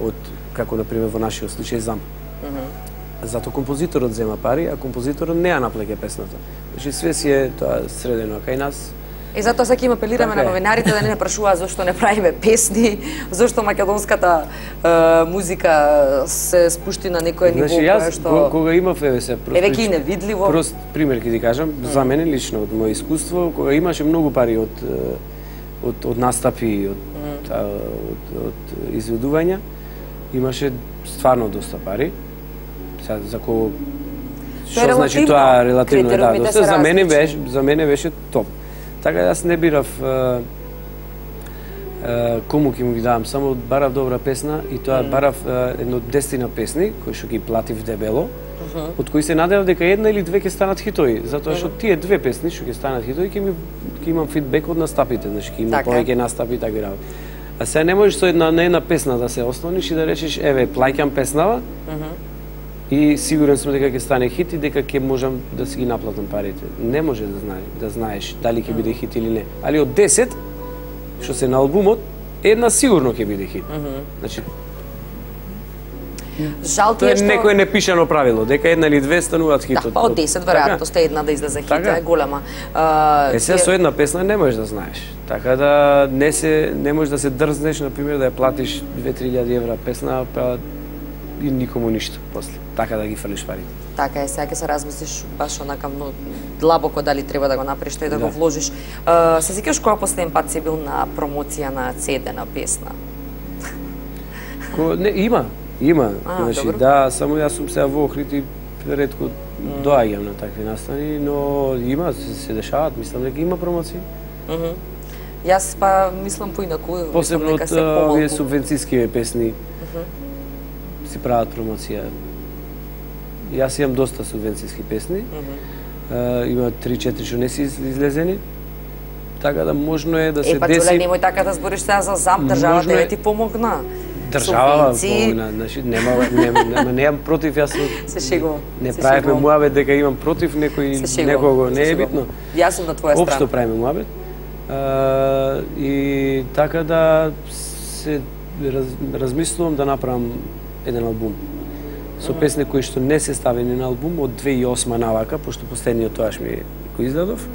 од како на пример во нашиот случај Замп. Mm -hmm. Зато композиторот зема пари, а композиторот не ја наплаќа песната. Значи све си е тоа средено, а кај нас И затоа сега им апелираме Така на е. новинарите да не не прашуваат зошто не правиме песни, зошто македонската е, музика се спушти на некое ниво Значи кое јас што кога, кога имав еве се е веќе и невидливо. Прост пример ќе ти кажам, за мене лично од моје искуство, кога имаше многу пари од е, од од настапи, од mm. од, од, од изведувања, имаше стварно доста пари. Сега за кого Тоа е што значи релативно. тоа релативно е, да, Критериумите доста се за мене различни. беше за мене беше топ. Така да јас не бирав е, е, кому ќе му ги давам, само барав добра песна и тоа Mm. барав е, едно десетина песни кои што ги платив дебело. Од кои се надевав дека една или две ќе станат хитови, затоа што тие две песни што ќе станат хитови ќе ми ќе имам фидбек од настапите, значи ќе има Така е. повеќе настапи и така работи. А сега не можеш со една на една песна да се ослониш и да речеш еве плаќам песнава. И сигурен сум дека ќе стане хит и дека ќе можам да си ги наплатам парите. Не може да знаеш, да знаеш дали ќе биде хит или не. Али од десет што се на албумот, една сигурно ќе биде хит. Значи Жал ти тоа е е што некое непишано правило, дека една или две стануваат хит. да, па од десет веројатноста една да излезе хит Така. е голема. А, Е, сега тие- со една песна не можеш да знаеш. Така да не се не можеш да се дрзнеш на пример да ја платиш две-три илјади евра песна, па и никому ништо после. Така да ги фрлиш парите. Така е, сега ќе се размислиш баш онака многу длабоко дали треба да го направиш тој да, Да. го вложиш. А, се сеќаваш кога последен пат си бил на промоција на си ди на песна? Ко, не, има, има. А, значи, добро. да, само јас сум сега во Охрид и ретко доаѓам на такви настани, но има, се, се дешават, мислам дека има промоции. Мгм. Јас па мислам поинаку, Посебно мислам од дека се а, помалку. овие субвенциски песни си прават промоција. Јас имам доста субвенциски песни. А, има три-четири што не си из- излезени. Така да можно е да се Е, па деси. Џуле, немој така да збориш сега за Замп, државата Можно е- не ти помогна. Држава Субвенции. помогна, значи нема нема нема немам против, јас Се шегувам. не се правиме шегувам. муабет дека имам против некој Се шегувам, некого, се не е шегувам. битно. Јас сум на твоја Општо страна. правиме муабет. А, и така да се раз, размислувам да направам еден албум со песни кои што не се ставени на албум од две тисячи и осма навака, пошто последниот тоаш ми го издадов.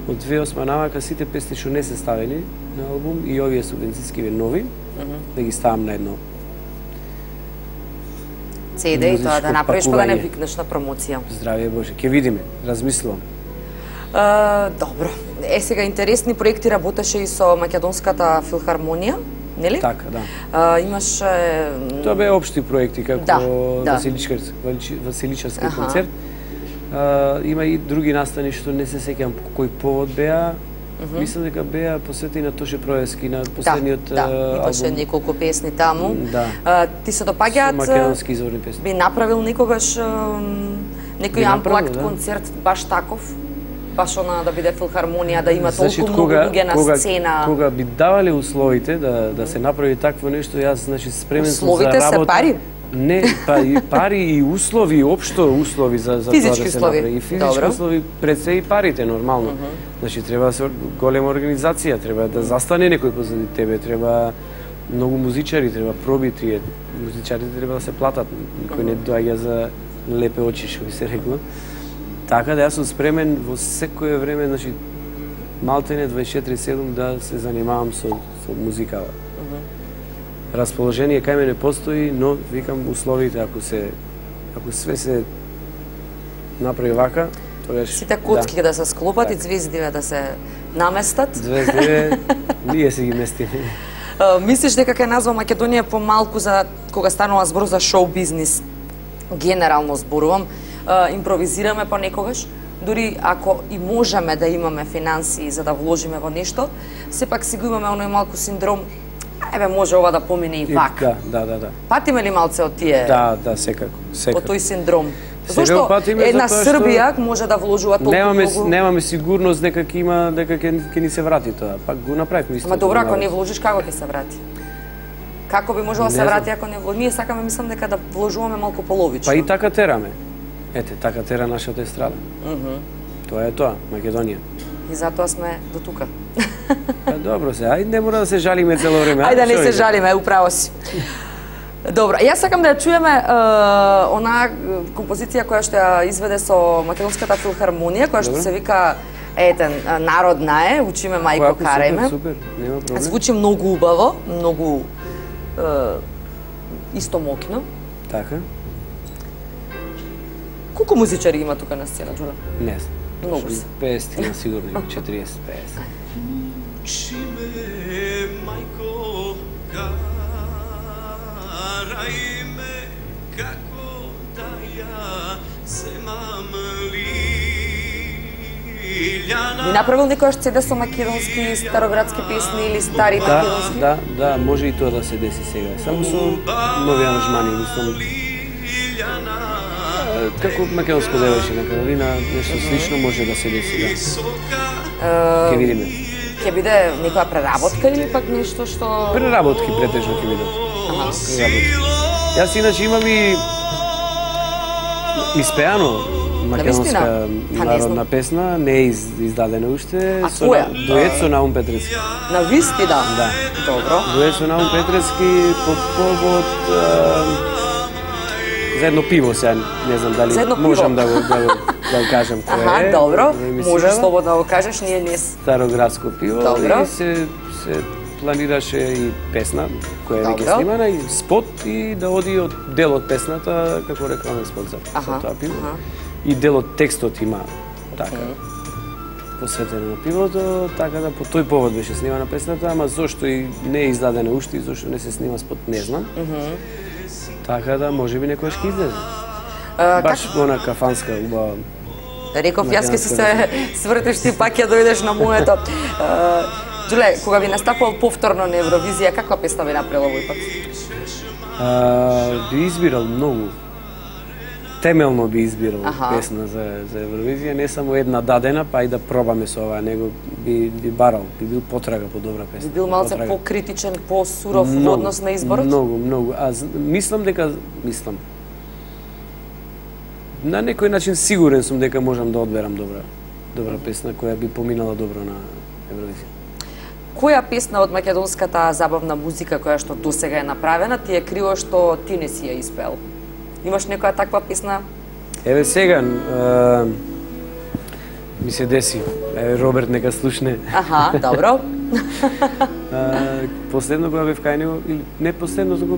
Од две тисячи и осма навака сите песни што не се ставени на албум и овие субвенциски нови, да ги ставам на едно. си ди и тоа да музичко направиш па да не пакување. викнеш на промоција. Здравје Боже, ќе видиме, размислувам. А, добро. Е, сега интересни проекти работеше и со Македонската филхармонија, нели? Така, да. А, имаше Тоа беа општи проекти како Да, да. Василичарски, Василичарски Аха. концерт. А, има и други настани што не се сеќавам по кој повод беа. Мислам дека беа посветени на Тоше Проески, на последниот да, да, имаше албум. неколку песни таму. Да. А, ти се Со допаѓаат македонски изворни песни. би направил некогаш ам, некој Би направил, амплакт да. концерт баш таков? Баш она да биде филхармонија, да има Значи, толку многу луѓе на кога, сцена. Кога би давале условите да да се направи такво нешто, јас значи спремен сум за Условите се работа. пари? Не, па и пари и услови, општо услови за за Физички тоа да се услови. направи. И физички Добро. услови пред се и парите нормално. Значи треба да се ор- голема организација, треба да застане некој позади тебе, треба многу музичари, треба проби тие музичарите треба да се платат. Никој не доаѓа за лепе очи, што би се рекло. Така да јас сум спремен во секое време, значи малтене дваесет и четири седум да се занимавам со со музика. Расположение кај мене постои, но викам условите ако се ако све се направи вака, тогаш Сите коцки да, да се склопат и звездиве да се наместат. Звездиве ние се ги местиме. А, мислиш дека ќе назва Македонија помалку за кога станува збор за шоу бизнис? Генерално зборувам, а, импровизираме понекогаш, дури ако и можеме да имаме финансии за да вложиме во нешто, сепак си го имаме оној малку синдром, Еве може ова да помине и И- вак. Да, да, да, да. Патиме ли малце од тие Да, да, секако, од секако. тој синдром? Сега Зошто патиме една затоа што Србија може да вложува толку Немаме многу? немаме сигурност дека ќе има дека ќе ќе ни се врати тоа. Пак го направивме исто. Ама добро, ако не вложиш, како ќе се врати? Како би можело да се Не знам. врати ако не вложиш? Ние сакаме, мислам дека да вложуваме малку половично. Па и така тераме. Ете, така тера нашата естрада. Тоа е тоа, Македонија. И затоа сме до тука. Па добро се, ајде не мора да се жалиме цело време. Ајде да не што се е? жалиме, управо си. Добро, јас сакам да ја чуеме е, онаа композиција која што ја изведе со Македонската филхармонија, која што Добро. се вика етен народна е, учиме мајко Којако, карајме. Супер, супер, нема проблем. Звучи многу убаво, многу е, исто мокно. Така, Колку музичари има тука на сцена, Джула? не знам. Многу Точно се. петдесет има сигурно, има четириесет петдесет. Шиме мајко карајме како да ја земам лиљана. Би направил некојаш цеде со македонски староградски песни или стари Да, македонски? да, да, може и тоа да се деси сега. Само со нови аранжмани, мислам. Е, Како македонско девојче на Каролина, нешто слично може да се деси, да. Ќе видиме. Ќе биде некоја преработка или пак нешто што... Преработки претежно ќе видат. Преработки. Јас иначе имам и испеано македонска Па, не народна знам. песна, не е из, издадена уште, А со твоја? на- дует со Наум Петрески. На вистина? Да. Добро. Дует со Наум Петрески по повод а, за едно пиво сега, не знам дали За едно пиво? можам да го, да го, да го кажам кое Аха, е. добро. во емисијава. Можеш слободно да го кажеш, ние не... Староградско пиво Добро. и се, се планираше и песна која е Добро. веќе снимана и спот и да оди од дел од песната како рекламен спот за, Аха, за тоа пиво. аха. И дел од текстот има така посветен на пивото, така да по тој повод беше снимана песната, ама зошто и не е издадена уште и зошто не се снима спот не знам. Така да можеби некојаш ќе излезе. А, Баш онака фанска убава. Реков, јас ке си се Македонска свртиш, ти пак ја дојдеш на моето. Е, Джуле, кога ви настапувал повторно на Евровизија, каква песна ви направила овој пат? А, би избирал многу. Темелно би избирал Аха. песна за, за Евровизија, не само една дадена, па и да пробаме со ова, него би, би барал, би бил потрага по добра песна. Би бил малце потрага. покритичен, посуров во однос на изборот? Многу, многу. А з- мислам дека, мислам, на некој начин сигурен сум дека можам да одберам добра, добра песна која би поминала добро на Евровизија. Која песна од македонската забавна музика која што досега е направена ти е криво што ти не си ја испеел? Имаш некоја таква песна? Еве сега, а, ми се деси, еве Роберт нека слушне. Аха, добро. А, последно кога бев кај него, или не последно, туку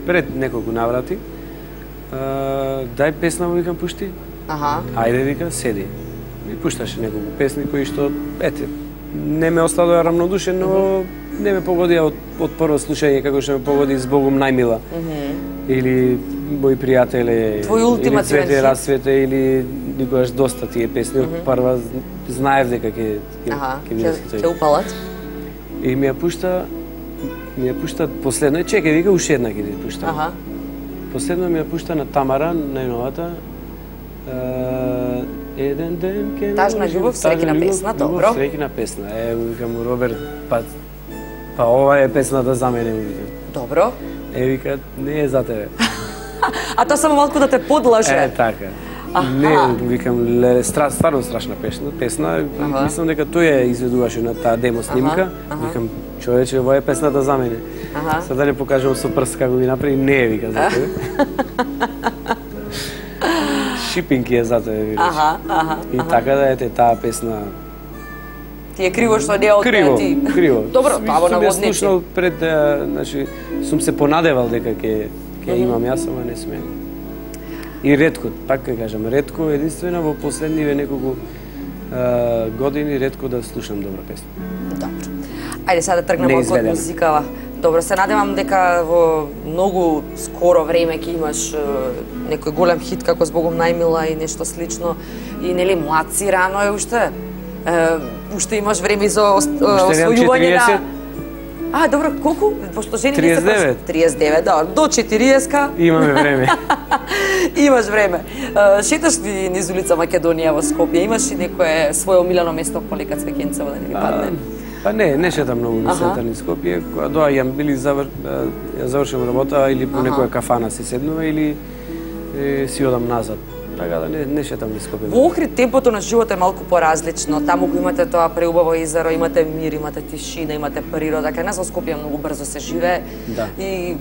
пред неколку наврати, а, дај песна му викам пушти. Аха. Ајде вика, седи. И пушташе неколку песни кои што, ете, не ме оставија рамнодушен, но не ме погодија од, од прво слушање како што ме погоди Збогом најмила. Или Мои пријателе, Твој или ултимативен Цвете хит. расцвете, или никогаш доста тие песни. Од прва знаев дека ќе ќе Аха, ќе биде ќе тој. ќе упалат. И ми ја пушта, ми ја пушта последно, чекај, вика, уште една ќе ти пушта. Аха. Последно ми ја пушта на Тамара, најновата. Е, еден ден ќе Тажна наложим, љубов, тажна среќна љубов, песна, љубов, добро. Среќна песна. Е, викам му Роберт, па па ова е песната за мене, му викам. Добро. Е, вика, не е за тебе. А тоа само малку да те подлаже. Е, така. Не, викам, ле, стра, стварно страшна песна. Песна, Аха. мислам дека тој ја изведуваше на таа демо снимка. аха. Викам, човече, ова е песната за мене. Аха. Сега да не покажам со прст како ги направи, не е, вика, за тебе. Шипинг е за тебе, викаш. Аха, аха. И така да ете таа песна Ти е криво што не од криво, ти. криво. Добро, Сум- тоа во сум ја наводници. слушнал пред, а, значи, сум се понадевал дека ќе ќе имам јас, ама не сме. И ретко, пак ќе кажам, ретко, единствено во последниве неколку а, години ретко да слушам добра песна. Добро. Ајде сега да тргнеме од Неизведена. музикава. Добро, се надевам дека во многу скоро време ќе имаш е, некој голем хит како Збогом најмила и нешто слично. И нели млад си, рано е уште. Е, уште имаш време за ос- е, Уште немам освојување на четириесет. А, добро, колку? Пошто жени не се триесет и девет. триесет и девет, да, до четириесет-ка. Имаме време. Имаш време. Uh, шеташ ли низ улица Македонија во Скопје? Имаш ли некое свое омилено место по Лека Цвеќенцево да не ви падне? Па не, не шетам многу на Аха. центар низ Скопје. Кога доаѓам или завр... ја завршам работа или по Аха. некоја кафана си седнува или е, си одам назад. Така да не, не шетам низ Скопје. Во Охрид темпото на живот е малку поразлично. Таму го имате тоа преубаво езеро, имате мир, имате тишина, имате природа. Кај нас во Скопје многу брзо се живее Да. и м,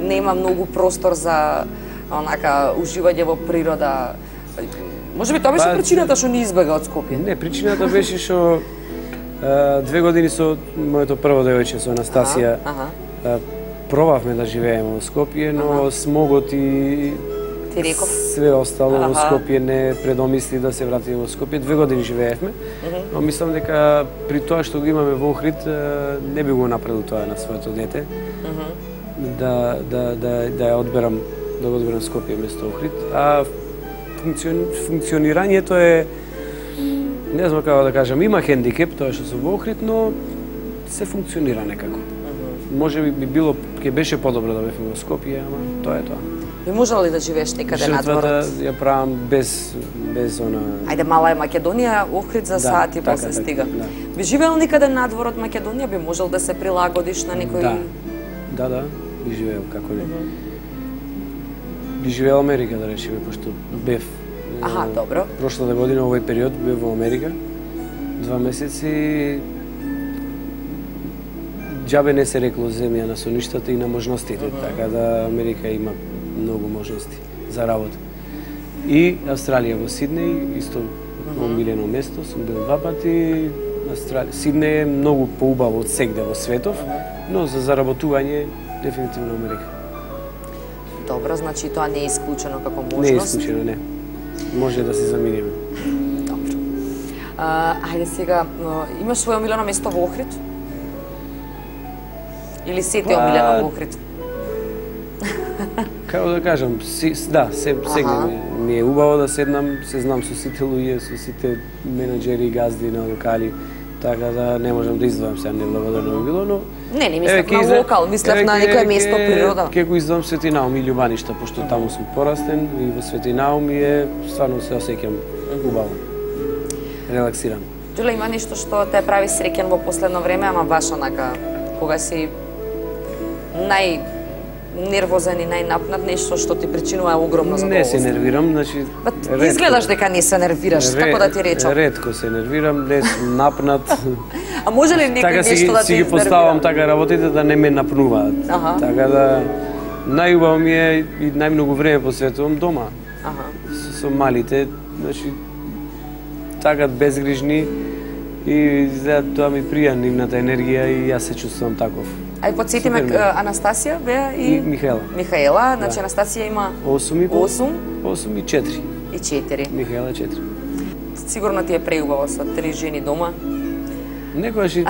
нема многу простор за онака уживање во природа. Може би тоа беше Па, причината што не избега од Скопје. Не, причината беше што е, две години со моето прво девојче со Анастасија Аха, е, пробавме да живееме во Скопје, но смогот и ти реков. све остало во Аха. Скопје не предомисли да се вратиме во Скопје. Две години живеевме, но мислам дека при тоа што го имаме во Охрид е, не би го направил тоа на своето дете. Да да да да ја одберам да го одберам Скопје место Охрид, а функцион, функционирањето е не знам како да кажам, има хендикеп тоа што сум во Охрид, но се функционира некако. Може би би било ќе беше подобро да бевме во Скопје, ама тоа е тоа. Би можел ли да живееш некаде надвор? Жртвата ја правам без без она. Ајде, мала е Македонија, Охрид за Да, сати така, после така, стига. да. Би живеел некаде надвор од Македонија, би можел да се прилагодиш на некој... Да. Да, да, би живеел како не. Би живеел Америка, да речеме, пошто бев. Аха, е, добро. Прошлата година овој период бев во Америка. Два месеци џабе не се рекло земја на соништата и на можностите, така да Америка има многу можности за работа. И Австралија во Сиднеј, исто омилено место, сум бил два пати. Австралија, Сиднеј е многу поубаво од сегде во светов, но за заработување дефинитивно Америка. Добро, значи тоа не е исклучено како Не е можност. исклучено, не. Може да се заминиме. Добро. А, ајде сега, но, имаш своје омилено место во Охрид? Или се ти е Па, омилено во Охрид? Како да кажам, си, да, се, сегде Аха. ми, ми е убаво да седнам, се знам со сите луѓе, со сите менеджери и газди на локали, така да не можам да издвојам сега неблагодарно би било, но Не, не еве, мислев ќе на изле- локал, мислев еве, на ќе- некое место, ќе- природа. Ќе го издвојам Светинаум и Љубаништа, пошто таму сум порастен и во Светинаум и е стварно се осеќам убаво. Релаксиран. Џуле, има нешто што те прави среќен во последно време, ама баш онака, кога си нај нервозен и најнапнат, нешто што ти причинува огромно Не се задоволство. нервирам, значи Ба, ретко- изгледаш дека не се нервираш, ре- како да ти речам. Ретко се нервирам, не сум напнат. А може ли некој Така си, нешто ги- да ти си ги поставам изнервира? така работите да не ме напнуваат. Аха. Така да најубаво ми е и најмногу време посветувам дома Аха. со, со малите, значи така безгрижни и за тоа ми прија нивната енергија и јас се чувствувам таков. Ај подсетиме Супер ми е. к- Анастасија беа и И Михаела. Михаела, значи Да. Анастасија има осум и пол, осум осум и четири. и четири. Михаела четири. Сигурно ти е преубаво со три жени дома. Некојаш и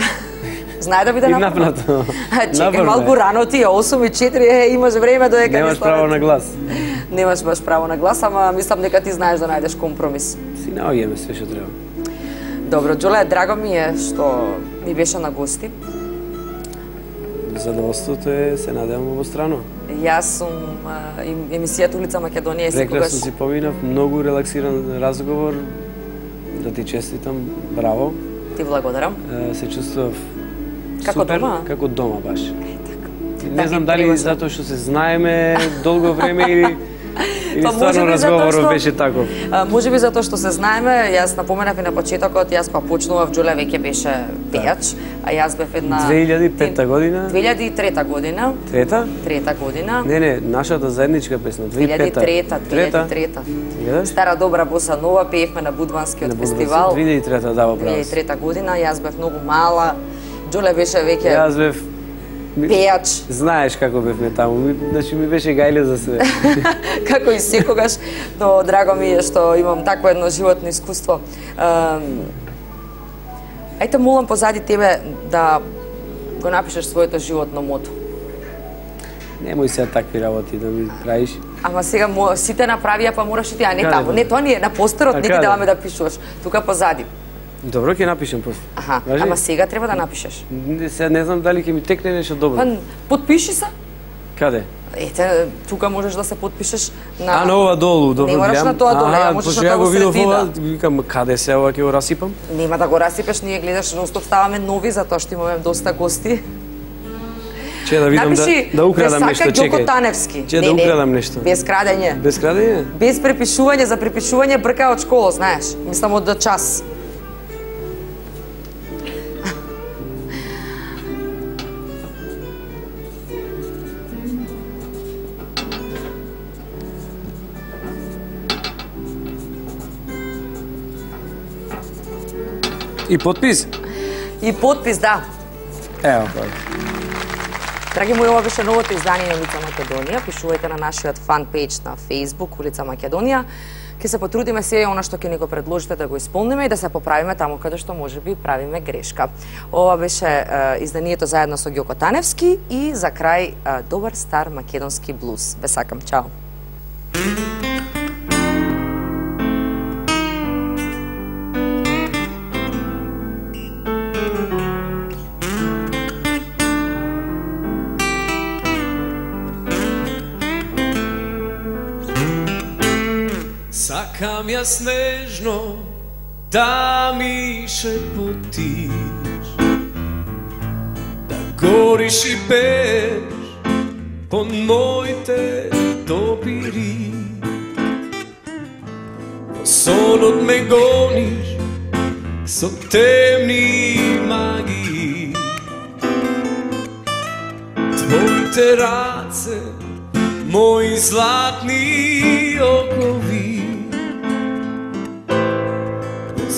Знае да биде И напнато. напнато. А, Чекај, Напорно е. малку рано ти е, осум и четири, е, имаш време додека не немаш станат. право на глас. Немаш баш право на глас, ама мислам дека ти знаеш да најдеш компромис. Си наоѓаме све што треба. Добро, Џоле, драго ми е што ми беше на гости. Задоволството е, се надевам обострано. Јас сум а, им- емисијата Улица Македонија е секогаш... Прекрасно си поминав, многу релаксиран разговор. Да ти честитам, браво. Ти благодарам. Е, Се чувствував Како супер, дома? како дома баш. Да, Не знам ми дали превозно. затоа што се знаеме долго време или или Па, стварно можеби затоа разговорот што- беше таков. А, може би затоа што се знаеме, јас напоменав и на почетокот, јас па почнував, Џоле веќе беше пејач, а јас бев една... две илјади и пета година. две илјади и трета година. Трета? Трета година. Не, не, нашата заедничка песна, две илјади и пета. две илјади и трета, две илјади и трета. Гледаш? Стара добра боса нова пеевме на Будванскиот На Будвански, фестивал. две илјади и трета, да, во две право илјади и си. трета година, јас бев многу мала. Џоле беше веќе Јас бев ми- пејач, Знаеш како бевме таму, ми, значи ми беше гајле за све. како и секогаш, но драго ми е што имам такво едно животно искуство. Ем, Ајте молам позади тебе да го напишеш своето животно мото. Немој сега такви работи да ми правиш. Ама сега мо, сите направија, па мораш и ти, а не Каде таму. бе? Не, тоа не е на постерот, А не ти каде? даваме да пишуваш. Тука позади. Добро, ќе напишем после. Аха, Важи? ама сега треба да напишеш. Не, сега не знам дали ќе ми текне нешто добро. Па, потпиши се. Каде? Ете, тука можеш да се потпишеш на... А, на ова долу, добро. Не мораш гледам. на тоа долу, ја можеш пошто на ја тоа го во видов средина. ова, викам, каде се ова, ќе го расипам? Нема да го расипеш, ние гледаш, нонстоп ставаме нови, затоа што имаме доста гости. Че да видам Напиши, да, да украдам нешто, Весака чекај. Ѓоко Таневски. Че Не, да не, украдам нешто. Без крадење. Без крадење? Без препишување, за препишување брка од школа, знаеш. Мислам од час. И подпис? И подпис, да. Ево, па. Драги мои, ова беше новото издание на Улица Македонија. Пишувајте на нашиот фан пејдж на Facebook Улица Македонија. Ке се потрудиме се она што ќе ни го предложите да го исполниме и да се поправиме таму каде што можеби правиме грешка. Ова беше е, изданието заедно со Ѓоко Таневски и за крај е, добар стар македонски блуз. Ве сакам, чао. Сакам ја снежно да ми шепотиш, да гориш и пееш под моите допири. Во сонот ме гониш со темни магии, твоите раце, мои златни окови.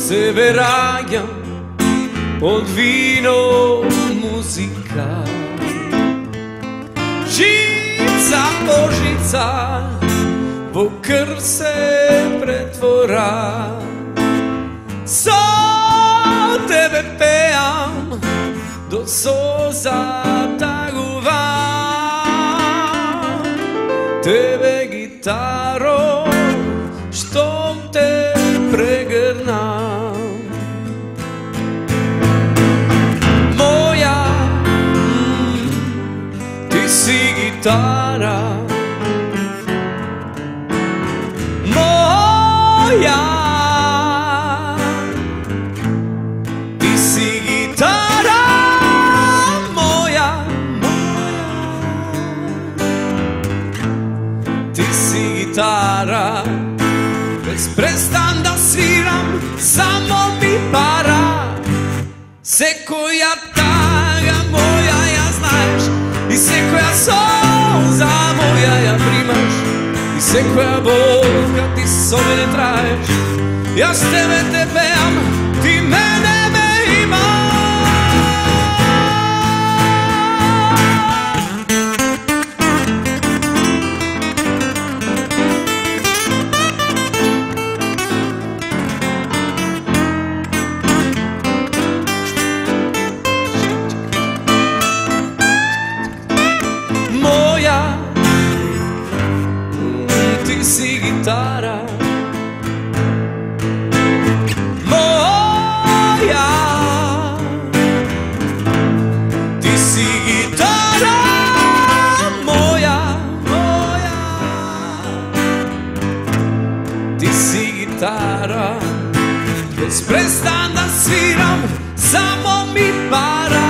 Се вераѓам од вино музика, жица по жица во крв се претвора. Со тебе пеам до соза тагувам, тебе гитаро штом те прегрнам. Моја, ти си гитара, моја, ти си гитара, моја, ти си гитара, без престан да свирам, само ми пара. Секоја тага моја ја знаеш, и секоја солза моја ја примаш, и секоја болка ти со мене траеш. Јас тебе те пеам, ти мене ме имаш. Si gitara, moja, ti si gitara, moja, moja, ti si gitara, bez prestan da sviram, samo mi para.